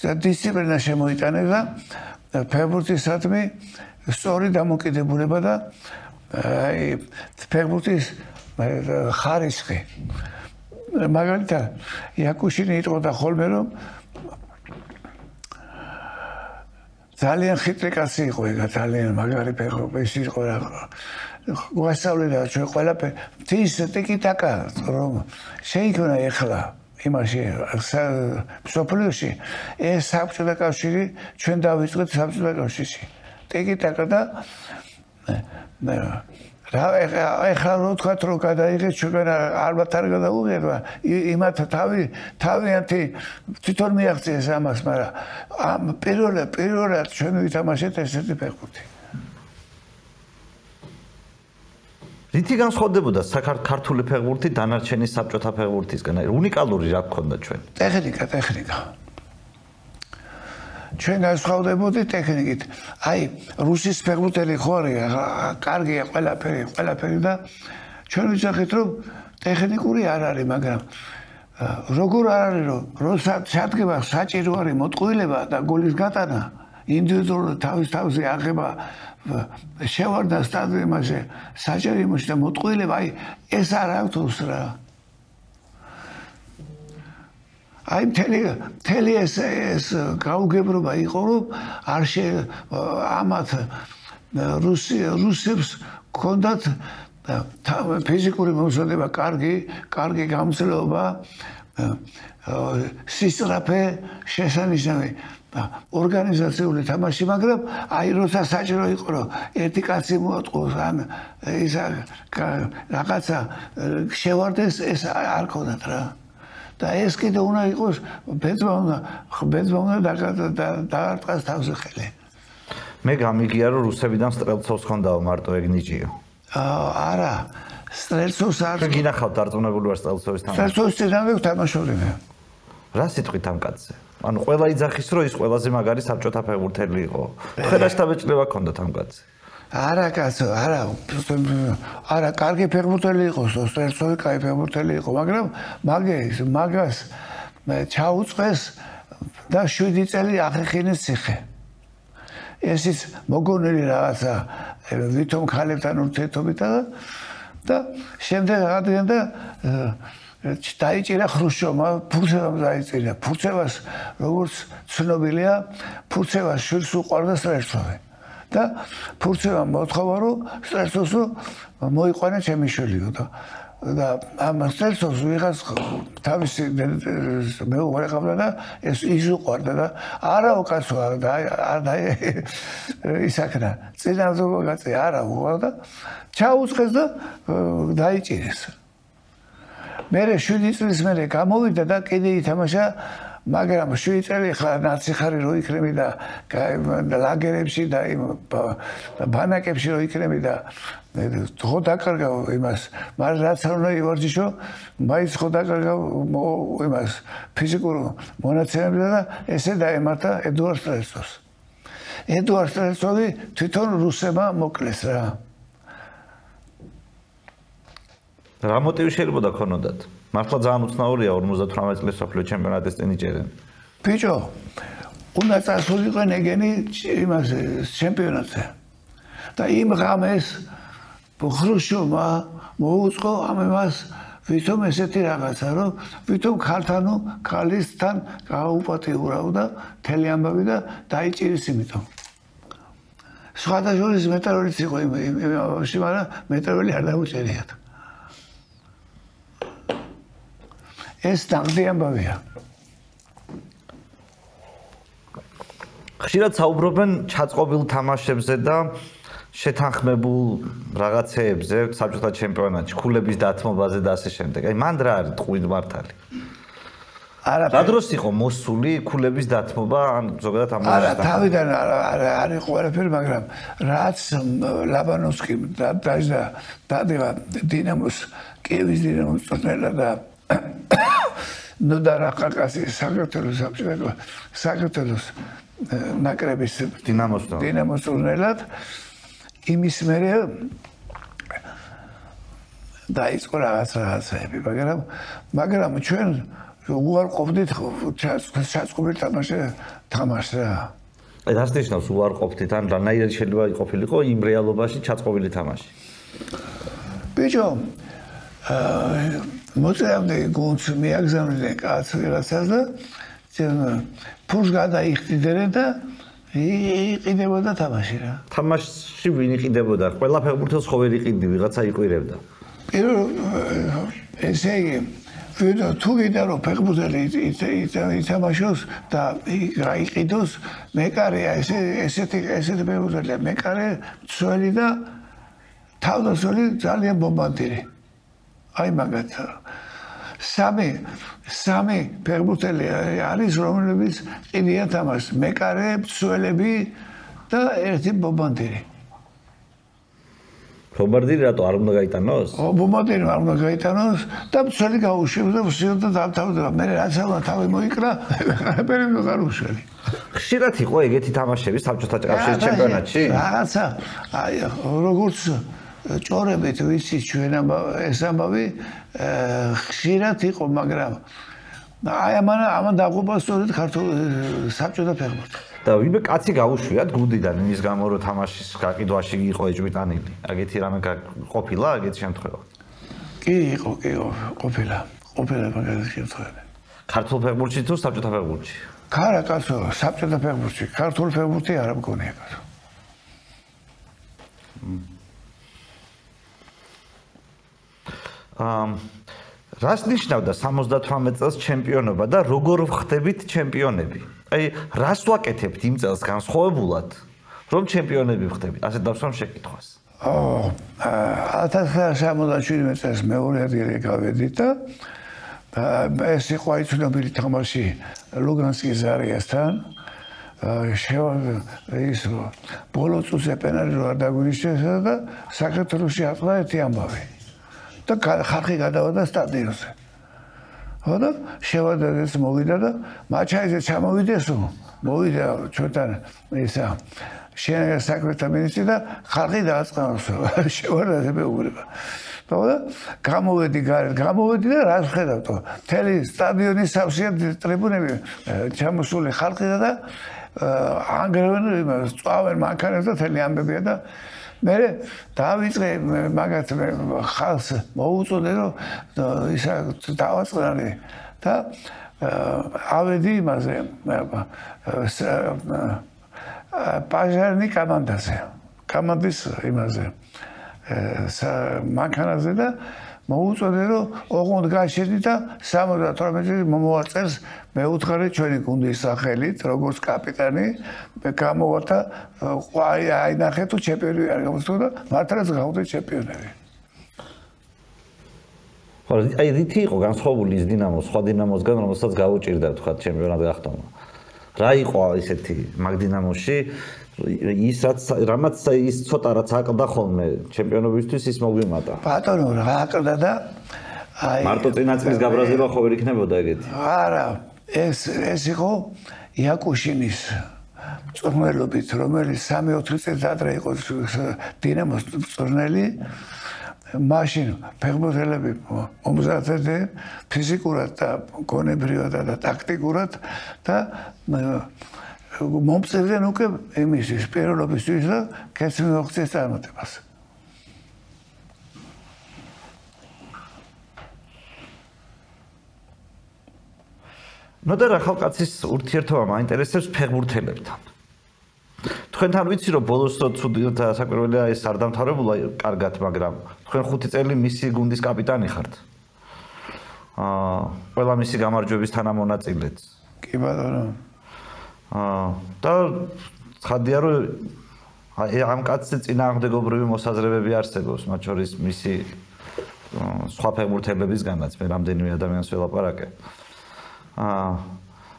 დისციპლინა შემოიტანეს და ფეხბურთისადმი სწორი დამოკიდებულება და ფეხბურთის ხარისხი. მაგალითად, იაკუშინი იტყოდა ხოლმე რომ ძალიან ხიტრი კაცი იყო ეგ ძალიან მაგარი ფეხბურთის იყო რა. გვასწავლიდა ჩვენ ყველაფერი ის ტიკიტაკა რომ შეიქმნა ეხლა იმაში სოფლიოში ეს საბჭოთა კავშირი ჩვენ დავიწყეთ საბჭოთა კავშირში ტიკიტაკა და რა ეხლა რო თქვა რომ გადაიღეთ ჩვენ ალბათ არ გადაუღება იმათ თავიანთი თვითონ მიაღწიეს ამას მაგრამ პირველად ჩვენ ვითამაშეთ ესეთი ფეხბურთი. რითი განსხვავდებოდა საქართველოს ფეხბურთი დანარჩენი საბჭოთა ფეხბურთისგან? უნიკალური რა გქონდა ჩვენ? ტექნიკა. ჩვენ განსხვავდებოდით ტექნიკით. აი, რუსის ფეხბურთელი ხო არის, კარგია ყველაფერი და ჩვენ ვიცახით რომ ტექნიკური არ არის, მაგრამ როგორ არ არის რომ სადგება საჭირო არის მოტყუილება და გოლის გატანა, ინდივიდუალური თავის აღება შევარდა სტადიონზე საჭიროებაში და მოტყუილება აი ეს არ აქვს რა. აი მთელი ეს გაუგებრობა იყო რომ არ ამათ რუსებს ჰქონდათ ფიზიკური მომზადება კარგი გამძლეობა სისწრაფე შესანიშნავი ორგანიზაციული თამაში, მაგრამ აი როცა საჭირო იყო რომ ერთი კაცი მოატყოს ან ის რაღაცა შევარდეს ეს არ ქონდათ რა. და ეს კიდე უნდა იყოს ბეძმა უნდა დაარტყას თავზე ხელი. მე გამიგია რომ რუსებიდან სტრელცოვს ხონდაო მარტო ეგ ნიჭიო. არა სტრელცოვს არ გინახავთ დარწმუნებული ვარ სტრელცოვის თამაში. სტრელცოვის წინავე თამაშობდნენ. რა სიტყვით ამ კაცზე? ანუ ყველა იძახის რომ ის ყველაზე მაგარი საბჭოთა ფეხბურთელი იყო. ხედავს დაბეჭდება ქონდათ ამ კაცზე. არა კაცო, არა კარგი ფეხბურთელი იყო, სტრელცოვი კაი ფეხბურთელი იყო, მაგრამ მაგას ჩაუწყეს და 7 წელი აღეხინეს ციხე. ესიც მოგონილი რაღაცა ვითომ ხალებთან ურთიერთობით და შემდეგ აღადგენდა დაიჭირა ხრუშჩოვმა, ფურცევამ დაიჭირა. ფურცევას როგორც ცნობილია, ფურცევას შვილს უყვარდა სტრელცოვი. და ფურცევამ მოთხოვა რომ სტრელცოვს მოიყვანა ჩემი შვილი და ამ სტრელცოვს ვიღაც თავისი მეუღლე ყავდა და ეს ის უყვარდა და არაო კაცო და ისაქნა წინაზობა კაცი არა უყვარდა ჩაუწყეს და დაიჭირეს. მერე 7 წლის მერე გამოვიდა და კიდე ითამაშა, მაგრამ 7 წელი ხა ნაციხარი რო იქნები და ლაგერებში და ბანაკებში რო იქნები და ხო დაკარგა იმას, მაგრამ რაც არ უნდა ივარჯიშო, მაინც ხო დაკარგა იმას ფიზიკურ მონაცემებზე და ესე დაემართა ედუარდ სტრელცოვს. ედუარდ სტრელცოვი თვითონ რუსებმა მოკლეს რა. რა მოტივი შეიძლება ქონოდათ? მართლა ძალიან უცნაურია 58 წლის მსოფლიო ჩემპიონატის წინ იჭერენ. ბიჭო, უნდა წასულიყო ეგენი იმაზე ჩემპიონატზე. და იმ ღამეს ხრუშჩოვმა მოუწყო ამ იმას ვითომ ესეთი რაღაცა, რომ ვითომ ქალისთან გააუპატიურავდა მთელი ამბავი და დაიჭირის იმიტომ. სხვადასხვა მეტალურგიც იყო იმაში, მაგრამ მეტალური არ დაუჭერიათ. ეს ნაღდი ამბავია. ხშირად საუბრობენ ჩაწყობილ თამაშებზე და შეთანხმებულ რაღაცეებზე საბჭოთა ჩემპიონატში, ქულების დათმობაზე და ასე შემდეგ. აი მან რა არის ტყუილ მართალი? რა დროს იყო მოსული ქულების დათმობა ან ზოგადად ამ არა, თავიდან არ იყო არაფერი, მაგრამ რაც ლაბანოვსკიმ დადება დინამოს, კიევის დინამოს წვრთნელა და ნოდარ ახალკაცის საქართველოს ნაკრების დინამოს წვრთნელად იმის მერე დაიწყო რაღაცები, მაგრამ ჩვენ უარ ყოფდით ჩაწყობილ თამაშს რა. აი რას ნიშნავს უარ ყოფდით? ან რანაირად შეიძლება ყოფილიყო იმ რეალობაში ჩაწყობილი თამაში? ბიჭო, მოწევდი გუნდს მიაგზავნდნენ კაცს ვიღაცას და ფულს გადაიხდიდნენ და იყიდებოდა თამაში რა. თამაშში ვინ იყიდებოდა? ყველა ფეხბურთელს ხო ვერ იყიდი, ვიღაცა იყირებდა. ესე იგი, თუ გინდა რომ ფეხბურთელი ითამაშოს და გაიყიდოს, მეკარეა ესეთი ფეხბურთელია, მეკარე, მცველი და თავდაცველი ძალიან ბომბანდირი. აი მაგათი სამი ფეხბურთელი არის, რომლებიც ყიდიან თამაშს, მეკარე, მცველები და ერთი ბომბანდირი. ბომბანდირი რატო არ უნდა გაიტანოს? ბომბანდირი არ უნდა გაიტანოს და მცველი გაუშვებს და ვსიოთ და დამთავრდება. მე რაც ამა თავი მოიკრა, არაფერი ვეღარ უშველი. ხშირად იყო ეგეთი თამაშები საბჭოთა კავშირის ჩემპიონატში? რაღაცა, აი როგორც ჭორებით ვიცით ჩვენ ეს ამბავი ხშირად იყო, მაგრამ აი ამან დაღუპა სწორედ ქართულ საბჭოთა ფეხბურთი. და ვინმე კაცი გაუშვიათ გუნდიდან იმის გამო რომ თამაშის გაყიდვაში იყო ეჭვიტანილი. აგეთი რამე ყოფილა ეგეთი შემთხვევა? კი, იყო, ყოფილა მაგალითად შემთხვევები. ქართულ ფეხბურთში თუ საბჭოთა ფეხბურთში? ქარა კაცო, საბჭოთა ფეხბურთში, ქართულ ფეხბურთი არ მგონია კაცო. რას ნიშნავდა 78 წელს ჩემპიონობა და როგორ ხდებით ჩემპიონები? აი, რას ვაკეთებთ იმ წელს განსხვავებულად, რომ ჩემპიონები ხდებით? ასე დავსვამ შეკითხვას. 1977 წელს მეორე ადგილზე გავედით და ეს იყო აი ცნობილი თამაში ლუგანსკის ზარიასთან. ის ბოლო წუთზე პენალი რო არ დაგვინიშნეს და საქართველოში ატყდა ერთი ამბავი. და ხალხი გადავიდა სტადიონზე. ხო და შევადარდეს მოვიდა და მაჩაიზე ჩამოვიდესო, მოვიდა ჩვენთან ისა შენერგა საქმეთა მინისტრი და ხალხი დააწყნოსო, შევადარდე მეუბნება. და გამოვედი გარეთ, და რას ხედავთო? მთელი სტადიონის სავსეა ტრიბუნები ჩამოსული ხალხი და ანგრევენ იმას, წვავენ მანქანებს და მთელი ამბებია და მე დავიწყე მაგათ ხალხს მოუწოდე რომ ისა დავაწყნარი და ავედი იმაზე პაჟარნი კომანდის იმაზე მანქანაზე და მოუწოდე რომ ოღონდ გაჩერდი და 78 მომოვარწევს მეუთხარი ჩვენი გუნდის სახელით როგორც კაპიტანი გამოვარდა აი ნახე თუ ჩემპიონი არ გამოსულა და მართლაც გავხდით ჩემპიონები. ხო, აი რითი იყო განსხვავებული ის დინამოს სხვა დინამოსგან რომელსაც გაუჭირდა თქვა ჩემპიონატ გახდომა. რა იყო ისეთი მაგ დინამოში რამაც ის ცოტა რაც აკლდა ხოლმე ჩემპიონობისთვის ის მოგვიმატა. ბატონო რა აკლდა და აი მარტო წინაწლის გაბრაზება ხო ვერ იქნებოდა ეგეთი? არა ეს იყო იაკუშინის მწვრთნელობით, რომელიც 3-4 წელს ადრე იყო დინამოს მწვრთნელი, მაშინ ფეხბურთელები მომზადებდნენ ფიზიკურად და გონებრივად და ტაქტიკურად და მომწევდნენ უკვე იმისთვის პირველობისთვის და კეთილმოღწევის წარმატებას. ნოდარ ახალკაცის ურთიერთობა მაინტერესებს ფეხბურთელებთან. თქვენთან ვიცი რომ ბოლოს ცუდი და საკვირველია ეს არ დამთავრებულა კარგად, მაგრამ თქვენ 5 წელი მისი გუნდის კაპიტანი ხართ. ყველა მისი გამარჯვების თანამონაწილეც. კი ბატონო. და ცხადია რომ ამ კაცზე წინააღმდეგობრივი მოსაზრებები არსებობს, მათ შორის მისი სხვა ფეხბურთელებისგანაც, მე რამდენიმე ადამიანს ველაპარაკე.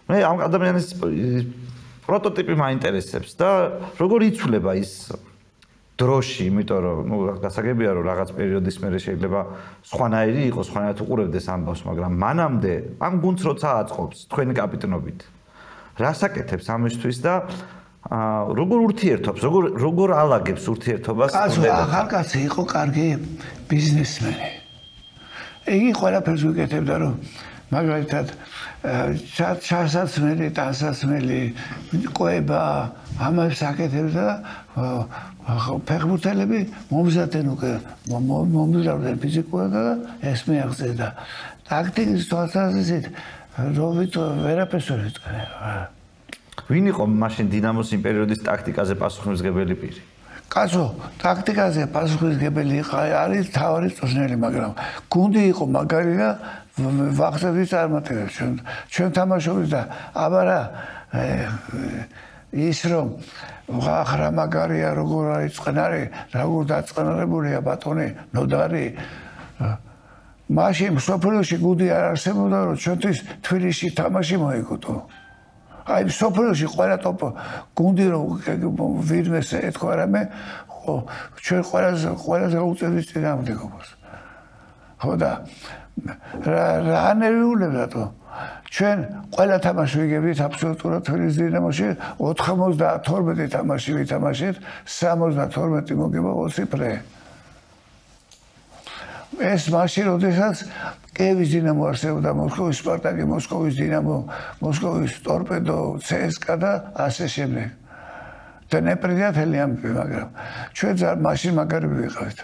მე ამ ადამიანის პროტოტიპი მაინტერესებს და როგორ იცვლება ის დროში, იმიტომ რომ გასაგებია რომ რაღაც პერიოდის მერე შეიძლება სხვანაირი იყოს, სხვანაირად უყურებდეს ამბავს, მაგრამ მანამდე ამ გუნდს როცა აწყობს თქვენი კაპიტნობით, რას აკეთებს ამისთვის და როგორ ურთიერთობს, როგორ ალაგებს ურთიერთობას? ახალკაცი იყო კარგი ბიზნესმენი. იგი ყველაფერს ვიკეთებდა რომ მაგალითად ჩასაცმელი, ტანსაცმელი, ყובה, ამას აკეთებდა ფეხბურთელები მომზადდნენ უკვე მომზადდნენ ფიზიკურად და ეს მიაღწევდა. ტაქტიკის თვალსაზრისით რობით ვერაფერს ვერ ვიწყენია. ვინ იყო მაშინ დინამოს იმ პერიოდის ტაქტიკაზე პასუხისმგებელი პირი? კაცო, ტაქტიკაზე პასუხისმგებელი არის თავი წვრთნელი, მაგრამ გუნდი იყო მაგარი და ვახტების წარმატებებს ჩვენ თამაშობთ და აბარა ის რომ ახლა მაგარია როგორ არის წყნარი, როგორ დაწყნარებულია ბატონი ნოდარი მაშინ სოფელში გუნდი არ არსებობდა რომ ჩვენთვის თბილისში თამაში მოიგო. აი სოფელში ყველა ტოპ გუნდი რომ ვინმეს ეთქვა რამე ჩვენ ყველაზე უწევს წინააღმდეგობას. ხო და რა ნერვიულებდა თო ჩვენ ყველა თამაში ვიგებით აბსოლუტურად თბილისის დინამოში 92 თამაში ვითამაშეთ 72 მოგება 20 პრე ეს მაშინ როდესაც კიევის დინამო არსებობდა მოსკოვის სპარტაკი მოსკოვის დინამო მოსკოვის ტორპედო CSKA და ასე შემდეგ და ნეპრიათელი ამბები მაგრამ ჩვენ მაშინ მაგარი ვიყავით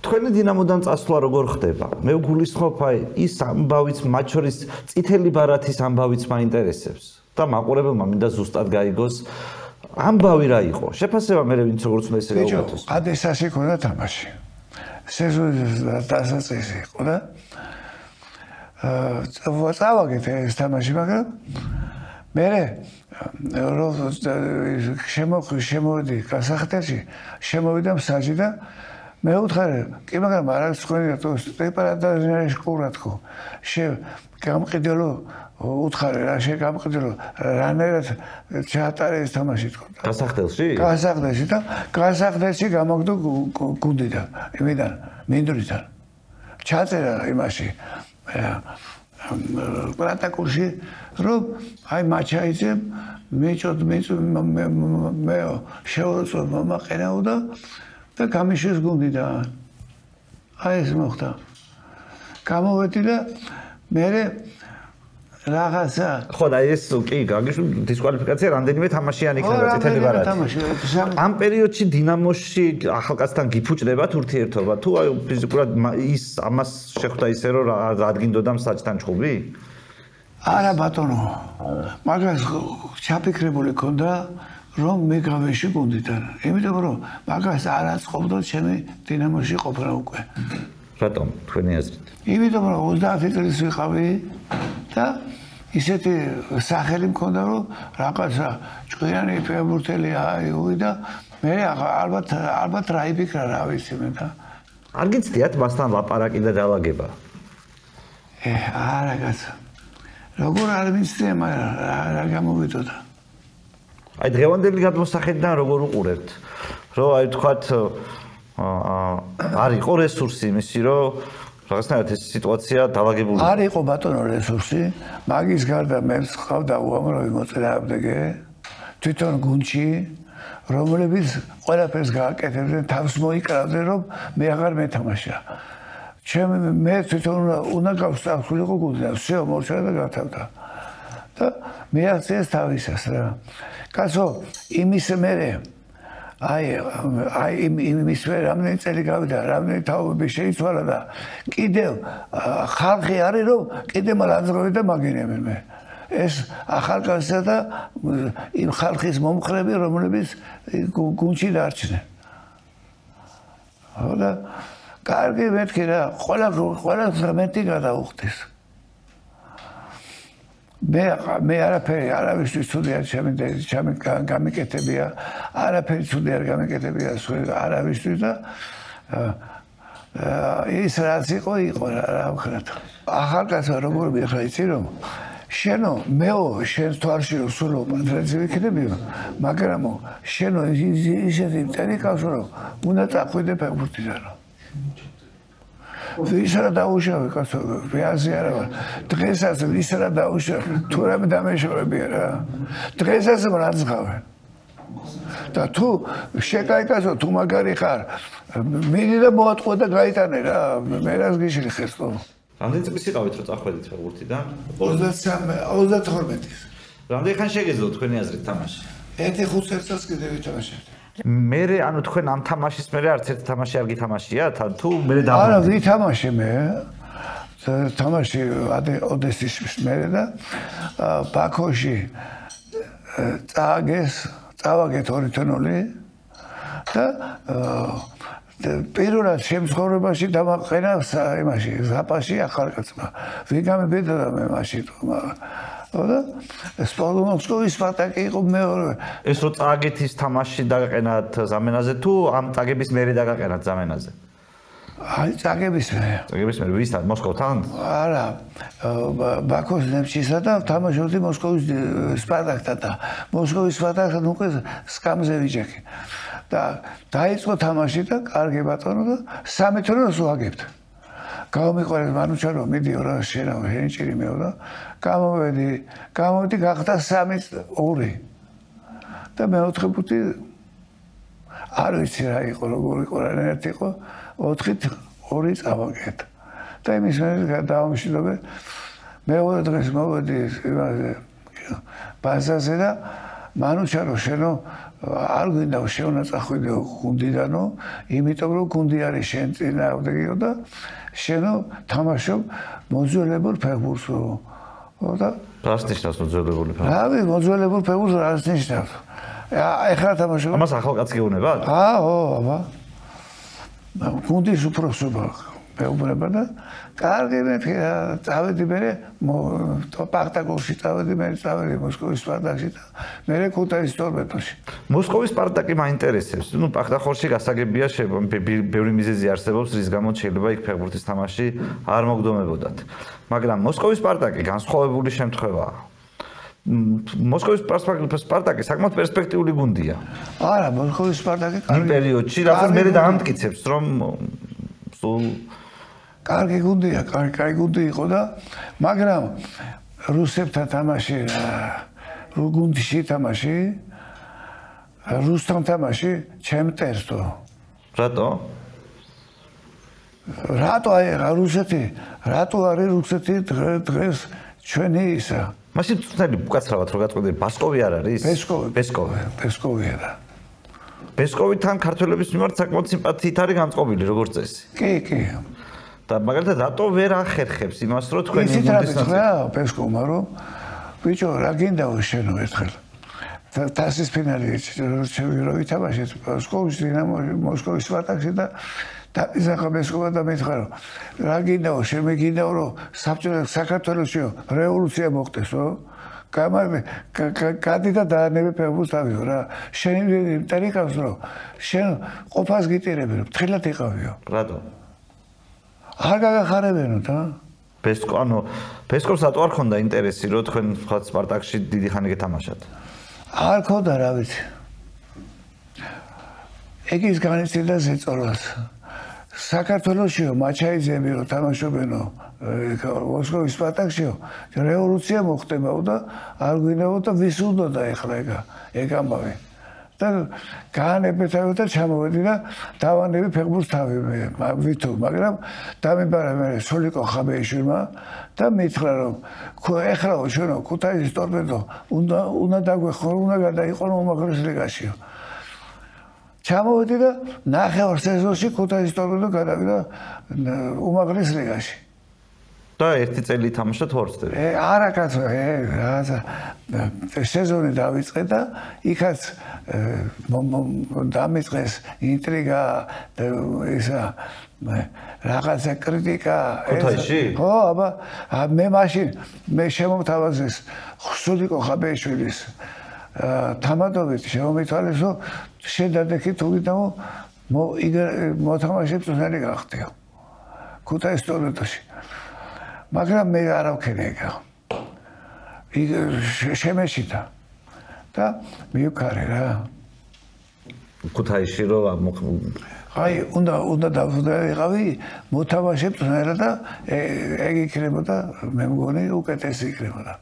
თქვენი დინამოდან წასვლა როგორ ხდება? მე ვგულისხმობ აი ის ამბავიც მათ შორის წითელი ბარათის ამბავიც მაინტერესებს და მაყურებელმა მინდა ზუსტად გაიგოს ამბავი რა იყო? შეფასება მე ვინც როგორც უნდა ესე გავუკეთოს. ადესაში ქონდა თამაში. სეზონის დასაწყისი იყო და წავაგეთ ეს თამაში, მაგრამ მე შემოვიდი გასახდელში, შემოვიდა მსაჯი და მე ვუთხარი, კი მაგრამ არ არის თქვენი პრეპარატორი შკურა თქო. გამყიდელო უთხარი რა შეგამყიდელო რანაირად ჩაატარე ეს თამაში თქო. გასახდელში? გასახდელში და გასახდელში გამოგდო გუნდიდან, იმიდან, მინდვრიდან. ჩაწერა იმაში პროტოკოლში რომ აი მაჩაიძემ მეჭოდ მე შევაწევ მომაყენაოდა და გამიშეს გუნდიდან. აი ეს მოხდა. გამოვედი და მე რაღაცა ხო და ეს კი გაგიშვი დისკვალიფიკაცია რამდენიმე თამაშიანი იქნება წითელი ბარათი. ამ პერიოდში დინამოში ახალკაცთან გიფუჭდებათ ურთიერთობა თუ აი ფიზიკურად ის ამას შეხვდა ისე რომ რადგინდოდა მსაჯთან ჩხუბი? არა ბატონო. მაგას ჩაფიქრებული ქონდა რომ მე გავეში გუნდიდან. იმიტომ რომ მაგას არ აწყობდა ჩემი დინამოში ყოფნა უკვე. რატომ თქვენი აზრით? იმიტომ რომ 30 წელს ვიყავი და ისეთი სახელი მქონდა რომ რაღაცა ჭკვიანი ფეხბურთელი აიუი და მე ალბათ რა იფიქრა რა ვიცი მე და არ გიცდიათ მასთან ლაპარაკი და დალაგება? არა კაცო. როგორ არ ვიცი მაგრამ რა გამოვიდოდა. აი დღევანდელი გადმოსახედიდან როგორ უყურებთ? რომ აი თქვათ არ იყო რესურსი იმისი რომ რაღაცნაირად ეს სიტუაცია დაალაგებული არ იყო ბატონო რესურსი მაგის გარდა მე ხავდა უამრავი მოწინააღმდეგე თვითონ გუნდში რომლებიც ყველაფერს გააკეთებდნენ თავს მოიკრავდნენ რომ მე აღარ მეთამაშა მე თვითონ უნდა გავსწავლიყო გუნდზე всё მორჩა და გათავდა და მე ახციეს თავისას რა კაცო იმის მერე აი იმის მერე რამდენი წელი გავიდა რამდენი თაობები შეიცვალა და კიდევ ხალხი არის რომ კიდევ მალაძროვე და მაგინებენ მე ეს ახალგაზრდა და იმ ხალხის მომხრები რომლებიც გუნდში დარჩნენ და კარგი მეთქი რა ყველა ღმერთი გადაუხდეს მე არაფერი არავისთვის ცუდი არ გამიკეთებია არაფერი ცუდი არ გამიკეთებია არავისთვის და ის რაც იყო რა ვქნათ ახალგაზრდა როგორ მიხარ იცი რომ შენო მეო შენს თვალში რომ სულ პანტრეცი ვიქნებიო მაგრამ შენო ისეთი მტერი ყავს რომ უნდა წახვიდე ფეხბურთიდან ვის რა დაუშავე კაცო რეალზე არა ვარ დღესაც ვის რა დაუშავე თუ რამე დამეშორებია რა დღესაც მრაცხავენ და თუ შეკაიკასო თუ მაგარი ხარ მიდი და მოატყო და გაიტანე რა მე რას გიშლი ხესტო რამდენი წელი იყავით რომ წახვედით ფეხბურთიდან 32-ის რამდენი ხანი შეგეძლო თქვენი აზრით თამაში 1-5 წელს კიდევ ვითამაშებდი მე ანუ თქვენ ამ თამაშის მერე არც ერთი თამაში არ გითამაშიათ თუ მე და არა ვითამაშე მე თამაში ოდესის მერე და ბაქოში წავაგეთ 2-0 და პირველად შემსხორებაში დამაყენა იმაში ზაპაში ახალგაზრდა ვიგამებედა და მე მაშინ და სპორტ სპარტაკი იყო მეორე ეს რო წაგეთ ის თამაში დაგაყენათ ზამენაზე თუ ამ წაგების მერე დაგაყენათ ზამენაზე აი წაგების მერე ვისთან მოსკოვთან არა ბაქოს ნეფჩისა და თამაშობდი მოსკოვის სპარტაკთან და მოსკოვის სპარტაკთან უკვე სკამზე ვიჯექი და დაიწყო თამაში და კარგი ბატონო და 3-0-ს ვაგებთ გამომიყვანეს მანუჩარო მიდიო რა შენაო ჰენჭირი მეო და გამოვედი გახდა 3-2 და მეოთხე ფუთი არ ვიცი რა იყო როგორ იყო რა ერთი იყო 4-2 წავაგეთ და იმის მერე დავამშვიდობე მეორე დღეს მოვედი იმაზე ბაზაზე და მანუჩარო შენო არ გვინდა შევნა წახვიდეო გუნდიდანო იმიტომ რომ გუნდი არის შენ წინააღმდეგიო და შენო თამაშობ მოძველებულ ფეხბურთსო და რას ნიშნავს მოძველებული ფეხბურთი? რავი მოძველებულ ფეხბურთს რას ნიშნავს? ეხლა თამაშობ. ამას ახალგაზრდაც გეუბნებათ? აბა. გუნდის უფროსობა მეუბნება და კარგი მეთქი წავედი მე პარტაკოვში წავედი მოსკოვის სპარტაკში და მე ქუთაისის ტორპედოში მოსკოვის სპარტაკი მაინტერესებს ნუ პარტახორში გასაგებია ბევრი მიზეზი არსებობს რის გამოც შეიძლება იქ ფეხბურთის თამაში არ მოგდომებოდათ მაგრამ მოსკოვის სპარტაკი განსხვავებული შემთხვევაა მოსკოვის სპარტაკი საკმაოდ პერსპექტიული გუნდია არა მოსკოვის სპარტაკი იმ პერიოდში რაღაც მე დაამტკიცებს რომ სულ კარგი გუნდია, კარგი გუნდი იყო და მაგრამ რუსებთან თამაში გუნდში თამაში რუსთან თამაში ჩემ ტერსო. რატო? რატო აი რატო არის რუსეთი დღეს ჩვენი ისა? მაშინ წუთელი უკაცრავად რო გაწყვეტე ბასკოვი არ არის? ბესკოვია და ბესკოვიდან ქართველების მიმართ საკმაოდ სიმპათიით არის განწყობილი როგორც წესი. კი. და მაგალითად რატო ვერ ახერხებს იმას რომ თქვენი გუნდის რა ბესკოვმა რომ ბიჭო რა გინდაო შენო ერთხელ თასის ფინალი რო ვითამაშეთ მოსკოვის სპარტაკში და იზახა ბესკოვა და მითხრა რომ რა გინდაო შენ მე გინდაო რომ საქართველოში რევოლუცია მოხდესო გადი და დაანებე ფეხბურთს ავიო რა შენი ტერიტორიას რომ შენ ყოფას გიტირები რომ თხილად იყავიო რატო არ გაგახარებენო და ბესკოვს რატო არ ქონდა ინტერესი რომ თქვენ სხვა სპარტაკში დიდი ხანი გეთამაშათ არ ქონდა რა ვიცი ეგ ის განიცდიდა ზეწოლას საქართველოსიო მაჩაიძეები რო თამაშობენო მოსკოვის სპარტაკშიო რევოლუცია მოხდებაო და არ გვინებოდა ვის უნდოდა ეხლა ეგ ამბავი და გაანებეთავე და ჩამოვედი და დავანები ფეხბურთს თავი ვითო მაგრამ დამიბარა მე სოლიკო ხაბეიშვილმა და მითხრა რომ ეხლაო ჩვენო ქუთაისის ტორპედო უნდა დაგვეხო უნდა გადაიყო უმაღლეს ლიგაშიო ჩამოვედი და ნახევარ სეზონში ქუთაისის ტორპედო გადავიდა უმაღლეს ლიგაში და ერთი წელი თამაშა თორცდები. არა კაცო, რაღაცა სეზონი დავიწყე და იქაც დამიწყეს ინტრიგა ისა რაღაცა კრიტიკა. ქუთაისში? ხო, აბა მე მაშინ მე შემომთავაზეს სულიკო ხაბეიშვილის თამადობით შემომითვალეს რომ შედადექი თუ გიდამო მოთამაშე წვნელი გახდიო. ქუთაისის ტორპედოში. მაგრამ მე არ ავქენეგა. შემეშიდა და მივკარე რა. ქუთაისში რო აი უნდა დავიყავი მოთამაშე წვნელი და ეგ იქნებოდა მე მგონი უკეთესი იქნებოდა.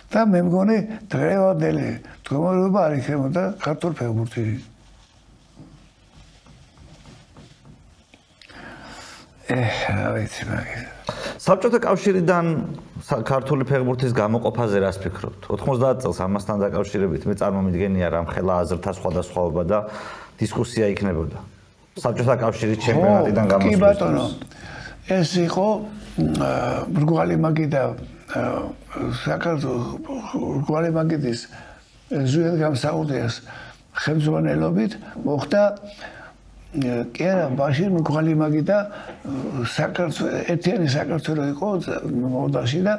და მე მგონი დღევანდელი მდგომარეობა არ იქნებოდა ქართულ ფეხბურთში. რა ვიცი მაგის. საბჭოთა კავშირიდან ქართული ფეხბურთის გამოყოფაზე რას ფიქრობთ? 90 წელს ამასთან დაკავშირებით მე წარმომიდგენია რამ ხელა აზრთა სხვადასხვაობა და დისკუსია იქნებოდა. საბჭოთა კავშირის ჩემპიონატიდან გამოსვლის. კი ბატონო. ეს იყო მრგვალი მაგიდა საქართველოს მრგვალი მაგიდის ზუიად გამსაუდეს ხელმძღვანელობით მოხდა კი არა, ბაში მრგვალი მაგიდა საქართველოს ერთიანი საქართველო იყო მოდაში და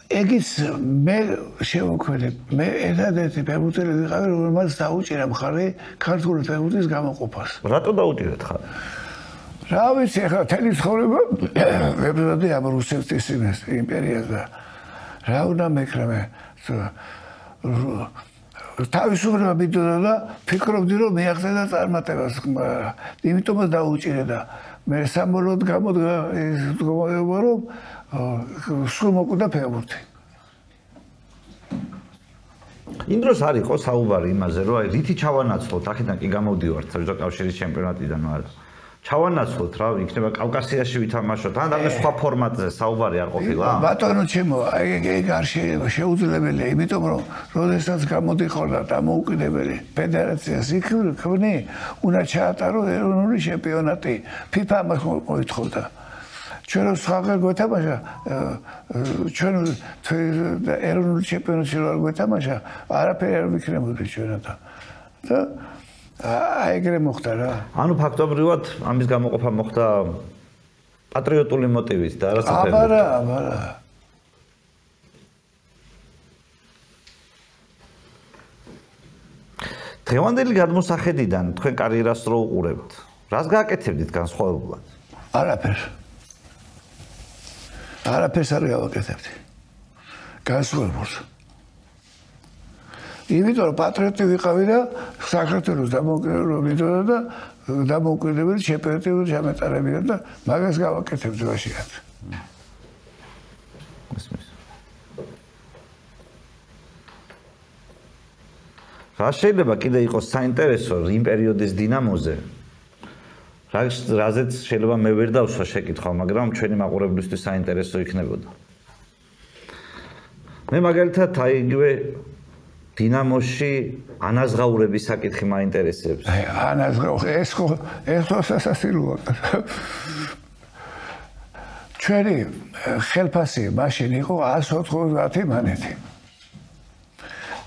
ეგის მე შევოქმედე მე ერთადერთი ფეხბურთელი ვიყავი რომელმაც დაუჭირა მხარი ქართული ფეხბურთის გამოყოფას. რატო დაუჭირეთ ხარ? რა ვიცი ახლა თელი ცხოვრება ვებზადი ამ რუსეთის იმპერიას და რა უნდა მეკრა მე თავისუფლება მიდოდა და ფიქრობდი რომ მეახდე და წარმატებას იმიტომაც დაუჭირე და მე სამბოლოდ გამოდგა ეს მდგომარეობა რომ სულ მოკვდა ფეხბურთი. იმ დროს არ იყო საუბარი იმაზე რომ აი რითი ჩავანაცვლოთ აქედან კი გამოვდივართ საბჭოთა კავშირის ჩემპიონატიდან არა ჩავანაცვლოთ რა იქნება კავკასიაში ვითამაშოთ ან რამე სხვა ფორმატზე საუბარი არ ყოფილა ბატონო ჩემო ეგ არ შეუძლებელია იმიტომ რომ როდესაც გამოდიხარდა დამოუკიდებელი ფედერაციას იქნი უნდა ჩაატარო ეროვნული ჩემპიონატი FIFA მას მოითხოვდა ჩვენ სხვა გვეთამაშა ჩვენ ეროვნული ჩემპიონატში რო არ გვეთამაშა არაფერი არ ვიქნებოდი ჩვენათა და აი ეგრე მოხდა რა. ანუ ფაქტობრივად ამის გამოყოფა მოხდა პატრიოტული მოტივით და არასაფერად. აბარა. დღევანდელი გადმოსახედიდან თქვენ კარიერას რო უყურებთ, რას გააკეთებდით განსხვავებულად? არაფერს არ გავაკეთებდი. განსხვავებულს. იმიტომ რომ პატრიოტი ვიყავი და საქართველოს დამოუკიდებლობა და დამოუკიდებელი ჩემპიონატი ჩამეტარებინა და მაგას გავაკეთებდი ვაშიათ. რა შეიძლება კიდე იყოს საინტერესო იმ პერიოდის დინამოზე? რაზეც შეიძლება მე ვერ დავსვა შეკითხვა, მაგრამ ჩვენი მაყურებლისთვის საინტერესო იქნებოდა. მე მაგალითად აი იგივე დინამოში ანაზღაურების საკითხი მაინტერესებს. აი ეს ხო სასასილოა. ჩვენი ხელფასი მაშინ იყო 190 მანეთი.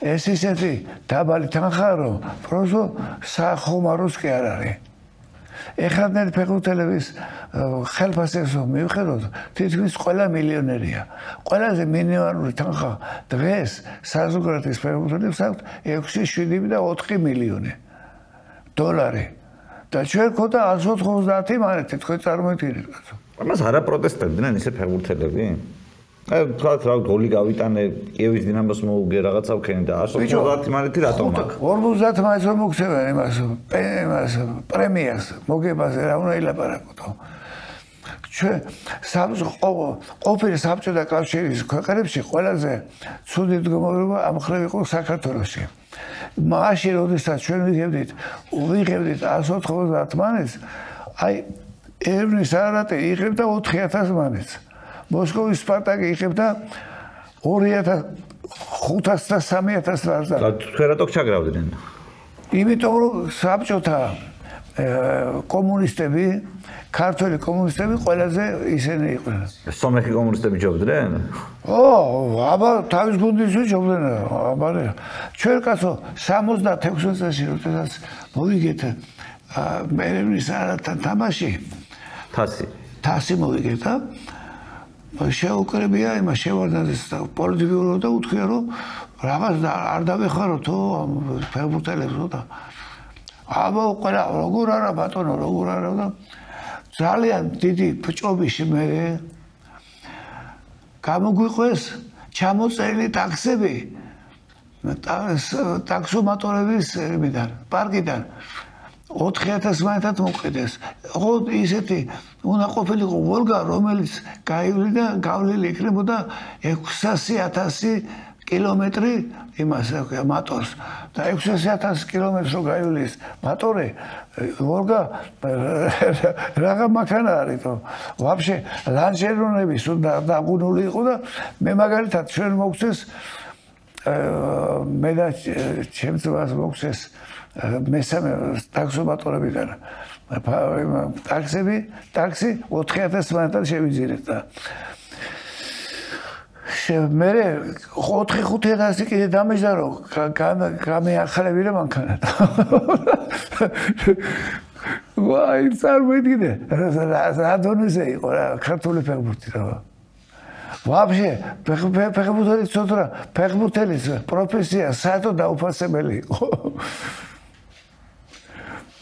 ეს ისეთი დაბალი თანხა რომ პროზო სახომაროს კი არ არის. ეხლა ფეხბურთელების ხელფასებს მივხედოთ, თითქმის ყველა მილიონერია. ყველაზე მინიმალური თანხა დღეს საზოგადოების ფეხბურთელებს აქვს 6-7 და 4 მილიონი დოლარი. და ჩვენ ქონდა 190 მანეთი, თქვენ წარმოიდგინეთ კაცო. ამას არა პროტესტებდნენ ისე ფეხბურთელები? თქვათ რა გოლი გავიტანე კიევის დინამოს მოუგე რაღაცა ვქენი და 150 მანეთი რატომ აქვს 50 მანეთს რომ მოგცემენ იმას პრემიას მოგებაზე რა უნდა ილაპარაკო ჩვენ ყოფილი საბჭოთა კავშირის ქვეყნებში ყველაზე ცუდი მდგომარეობა ამ მხრივ იყო საქართველოში მაშინ როდესაც ჩვენ ვიღებდით 190 მანეთს აი ერევნის არატე იღებდა 4000 მანეთს მოსკოვის სპარტაკი იღებდა 2500 და 3000 ლარს და თქვენ რატო ჩაგრავდნენ იმიტომ რომ საბჭოთა კომუნისტები ქართველი კომუნისტები ყველაზე ისინი იყვნენ სომეხი კომუნისტები ჯობდნენ აბა თავის გუნდის ჯობდნენ აბა ჩვენ კაცო 76 წელს როდესაც მოვიგეთ ერევნის არატთან თამაში თასი მოვიგეთ შეუკრებია იმას შევარდნაძეს და პოლიტბიურო და უთქვია რომ რაღაც არ დავეხარო ფეხბურთელებს და აბა ყველა როგორ არა ბატონო როგორ არა და ძალიან დიდი ფჭობიში მე გამოგვიყვეს ჩამოწერილი ტაქსები ტაქსომატორების პარკიდან 4000 მანეთად მოყიდეს. ხო ისეთი უნდა ყოფილიყო ვოლგა, რომელიც გავლილი იქნებოდა 600,000 კილომეტრი იმას მატორს. და 600,000 კილომეტრს რო გაივლის მატორი, ვოლგა რაღა მაქანა არის თო. ვაფშე ლანჟერონები სულ დაგუნული იყო და მე მაგალითად ჩვენ მოგცეს მე და ჩემს ძმას მოგცეს მესამე ტაქსომატორებიდან ტაქსი 4000 მანეთად შევიძინეთ და მე 4-500 კიდე დამეჯდა რომ გამეახლებინა მანქანა ვაი წარმოიდგინე რა დონეზე იყო რა ქართული ფეხბურთი რა ვაფშე ფეხბურთელი ცოტა ფეხბურთელის პროფესია საერთოდ დაუფასებელი იყო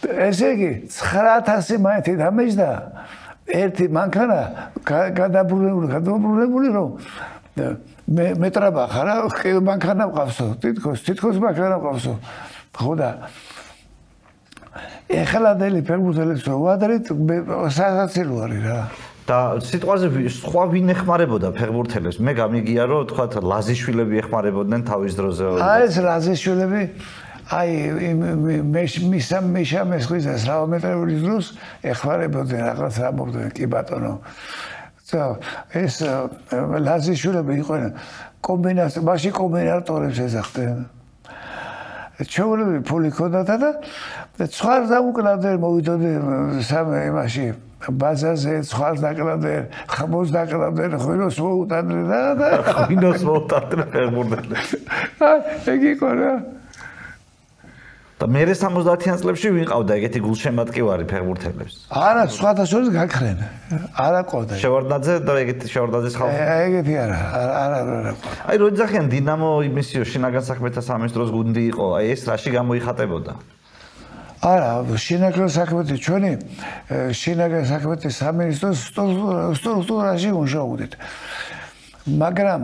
ესე იგი 9000 მანეთი დამეჯდა ერთი მანქანა გადაბრუნებული რომ მეტრაბა ხარა მანქანა მყავსო თითქოს მანქანა მყავსო ხო და ეხლადელი ფეხბურთელებს ვადრით სასაცილო არის რა და სიტყვაზე სხვა ვინ ეხმარებოდა ფეხბურთელებს მე გამიგია რომ თქვათ ლაზიშვილები ეხმარებოდნენ თავის დროზე აი ეს ლაზიშვილები აი მიშა მესხიზას რაომეტრების დროს ეხმარებოდნენ რაღაც ამობდნენ კი ბატონო ეს ლაზიშვილები იყვნენ კომბინაცია მაშინ კომბინატორებს ეძახდნენ ჩვეულებრივი ფული ქონდათ და ცხვარს დაუკლავდნენ მოვიდოდნენ იმაში ბაზაზე ცხვარს დაკლავდნენ ხმოს დაკლავდნენ ღვინოს მოუტანდნენ და ღვინოს მოუტანდნენ ფეხბურთელებს ეგ იყო რა და მე 70-იან წლებში ვიყავდა ეგეთი გულშემატკივარი ფეხბურთელებს. არა, სხვათა შორის გაქრენ. არა ყოდა. შევარდნაძე და ეგეთი შევარდნაძის ხალხი. ეგეთი არა. აი, რო იძახიან დინამო იმისიო შინაგან საქმეთა სამინისტროს გუნდი იყო. აი ეს რაში გამოიხატებოდა? არა, შინაგან საქმეთა ჩვენი შინაგან საქმეთა სამინისტროს სტრუქტურაში მუშაობდით. მაგრამ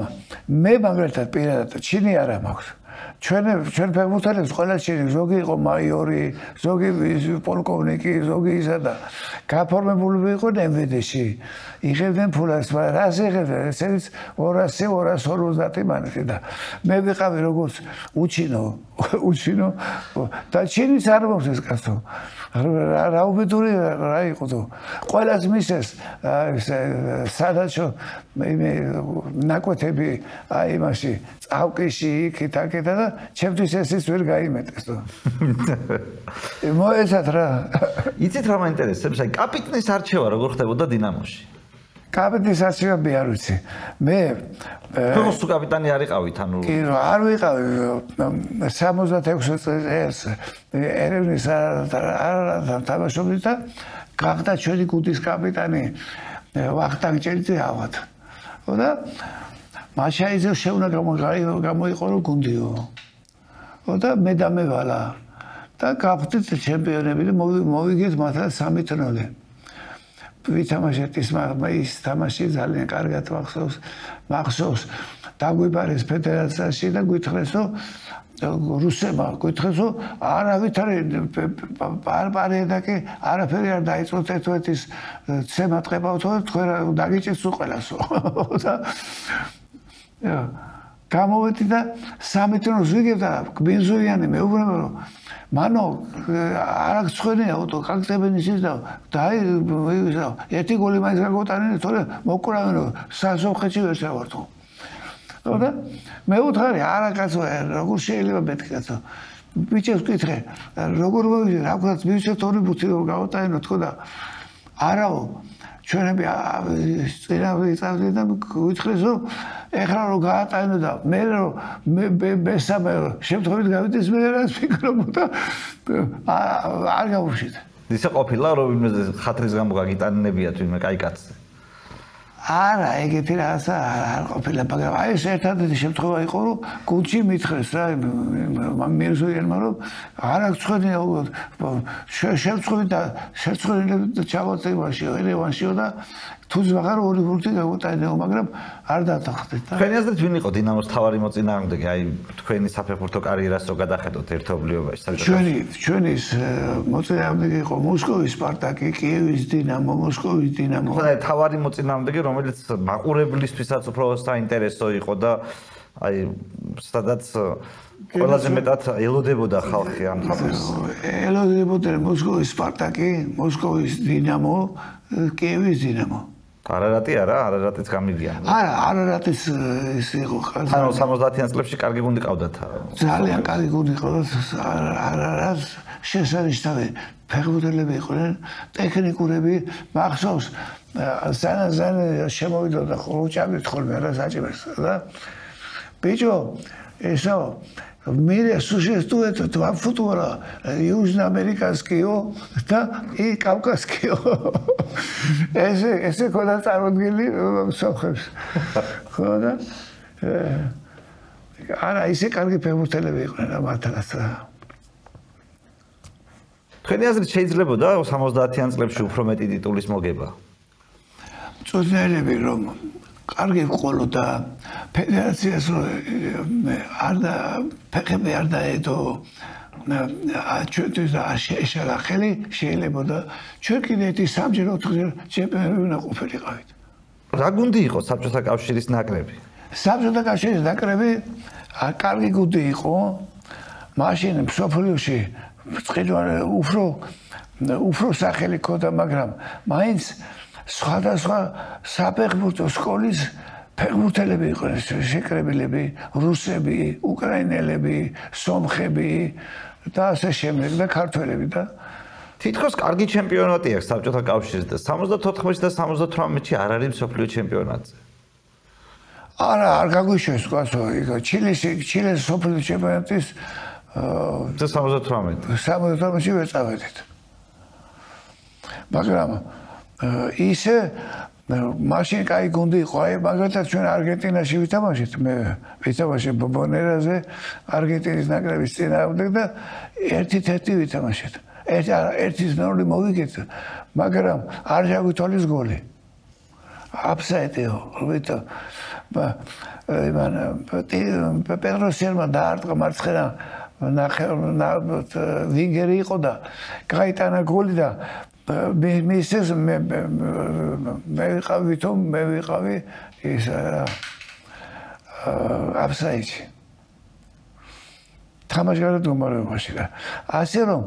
მე მაგალითად პირადად ჩინი არა მაქვს. ჩვენ ფეხბურთელებს ყველა ჩინი ზოგი იყო მაიორი, ზოგი პოლკოვნიკი, ზოგი ისა და გაფორმებული იყო MVD-ში. იღებდნენ ფულს, რას იღებდნენ? ესეც 200-250 მანეთი და მე ვიყავი როგორც უჩინო და ჩინის არ მომწეს კაცო. რა უბედური რა იყო თუ ყველას მისეს სადაცო ნაკვეთები აი იმაში წავკიში იქით აქეთა და ჩემთვის ესიც ვერ გაიმეტეს თუ მოეცათ რა იცით რა მაინტერესებს აი კაპიტნის არჩევა როგორ ხდებოდა დინამოში კაპიტნის არჩევა მე არ ვიცი მე ფეხბურთის კაპიტანი არ იყავით ანუ კი არ ვიყავი 66 წელს ერევნის არ თამაშობდი და გახდა ჩვენი გუნდის კაპიტანი ვახტანგ ჭელიძე ავად და მაშაიძე შეუნა გამოიყო გუნდიო და მე დამევალა და გავხდით ჩემპიონები და მოვიგეთ მათთან 3-0 ვითამაშეთ ის თამაში ძალიან კარგად მახსოვს დაგვიბარეს ფედერაციაში და გითხრეს რომ რუსებმა გითხრეს რომ არავითარი პარპარიადაკი არაფერი არ დაიწყოთ ერთმანეთის ცემა ტყებავთო თქვენ დაგიჭირთ უყელასო და გამოვედი და 3 ტრონს ვიგებ და გბინზოიანი მეუბნება რომ მანო არ აქვს ხვენია ოტო კაკტებენი ის და ერთი გოლი მაინც გაგოტანინე თორე მოკურავენ რომ სასოხეთში ვერ შევართო და მე უთხარი არა კაცო როგორ შეიძლება მეთქაცო ბიჭებს ვკითხე როგორ მოვიძე რა ქვაც მივცეთ 2 ბუთი რომ გავოტანინო თქო და არაო ჩვენები წინავე წავდი და გითხრეს რომ ეხლა რომ გაატანო და მე რომ მესამე შემთხვევით გავიდეს მე რას ფიქრობ და არ გავუშვით ისე ყოფილა რომ ვინმე ხათრის გამო გაგიტანებიათ ვინმე კაი კაცზე არა ეგეთი რაღაცა არ ყოფილა მაგრამ აი ეს ერთადერთი შემთხვევა იყო რომ გუნდში მითხრეს რა მირზოიანმა რომ არ აქვს ცხენია შემთხვევით და ჩავაწევაშიო ერევანშიო და თუს ვაღარ 2 ბურთი გავუტანეო მაგრამ არ დათანხმდით და თქვენი აზრით ვინ იყო დინამოს თავარი მოწინააღმდეგე აი თქვენი საფეხბურთო კარიერას რო გადახედოთ ერთობლიობაში ჩვენი მოწინააღმდეგე იყო მოსკოვის სპარტაკი კიევის დინამო მოსკოვის დინამო ხო თავარი მოწინააღმდეგე რომელიც მაყურებლისთვისაც უფრო საინტერესო იყო და აი სადაც ყველაზე მეტად ელოდებოდა ხალხი ამ თამაშს ელოდებოდა მოსკოვის სპარტაკი მოსკოვის დინამო კიევის დინამო არარატი არა არარატიც გამიგია არა არარატის ის იყო ანუ 70-იან წლებში კარგი გუნდი ყავდათ ძალიან კარგი გუნდი ყავდათ არარატს შესანიშნავი ფეხბურთელები იყვნენ ტექნიკურები მახსოვს ზანა შემოვიდოდა ხოჭამით ხოლმე რა საჭიროა და ბიჭო ესო Mire, существует два футбола, южноамериканского и кавказского. Если куда-то родили, сохребс. Куда? Ара, если карги певутелеби იყვნენ მართლაც. თქვენი აზრით შეიძლებოდა 70-იან წლებში უფრო მეტი ტიტულის მოგება? მწვრთნელები რომ კარგი ყოლოდა ფედერაციას არ და ფეხები არ დაედო ჩვენთვის შეეშალა ხელი შეიძლება და ჩვენ კიდე ერთი 3-ჯერ 4-ჯერ ჩემპიონები უნდა ყოფილიყავით. რა გუნდი იყო საბჭოთა კავშირის ნაკრები? საბჭოთა კავშირის ნაკრები კარგი გუნდი იყო. მაშინ მსოფლიოში წყილვარი უფრო სახელი ქონდა, მაგრამ მაინც სხვადასხვა საფეხბურთო სკოლის ფეხბურთელები იყვნენ, შეკრებილები, რუსები, უკრაინელები, სომხები და ასე შემდეგ და ქართველები და თითქოს კარგი ჩემპიონატი აქვს საბჭოთა კავშირის და 74-ში და 78-ში არ არის მსოფლიო ჩემპიონატზე. არა, არ გაგვიშვეს თქვასო, ჩილეს მსოფლიო ჩემპიონატის 78-ში ვეწავედით. მაგრამ ისე მაშინ კაი გუნდი იყო, აი მაგალითად ჩვენ არგენტინაში ვითამაშეთ, მე ვითამაშე ბობონერაზე, არგენტინის ნაკრების წინააღმდეგ და 1-1 ვითამაშეთ. ერთის მეორე მოვიგეთ, მაგრამ არ ჩაგვითვალეს გოლი. აფსაიდიო, ვითო პედროსერმა დაარტყა მარცხენა ვინგერი იყო და გაიტანა გოლი და მისეს მე ვიყავი ის აფსაიდში. თამაშგარად გომარებაში და ასე რომ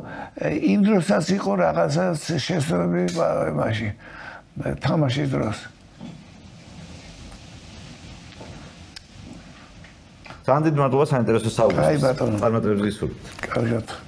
იმ დროსაც იყო რაღაცა შესწორები მაშინ თამაშის დროს. ძალიან დიდ მადლობა საინტერესო საუბრისთვის. აი ბატონო. წარმატებების გისურვებთ. კარგად.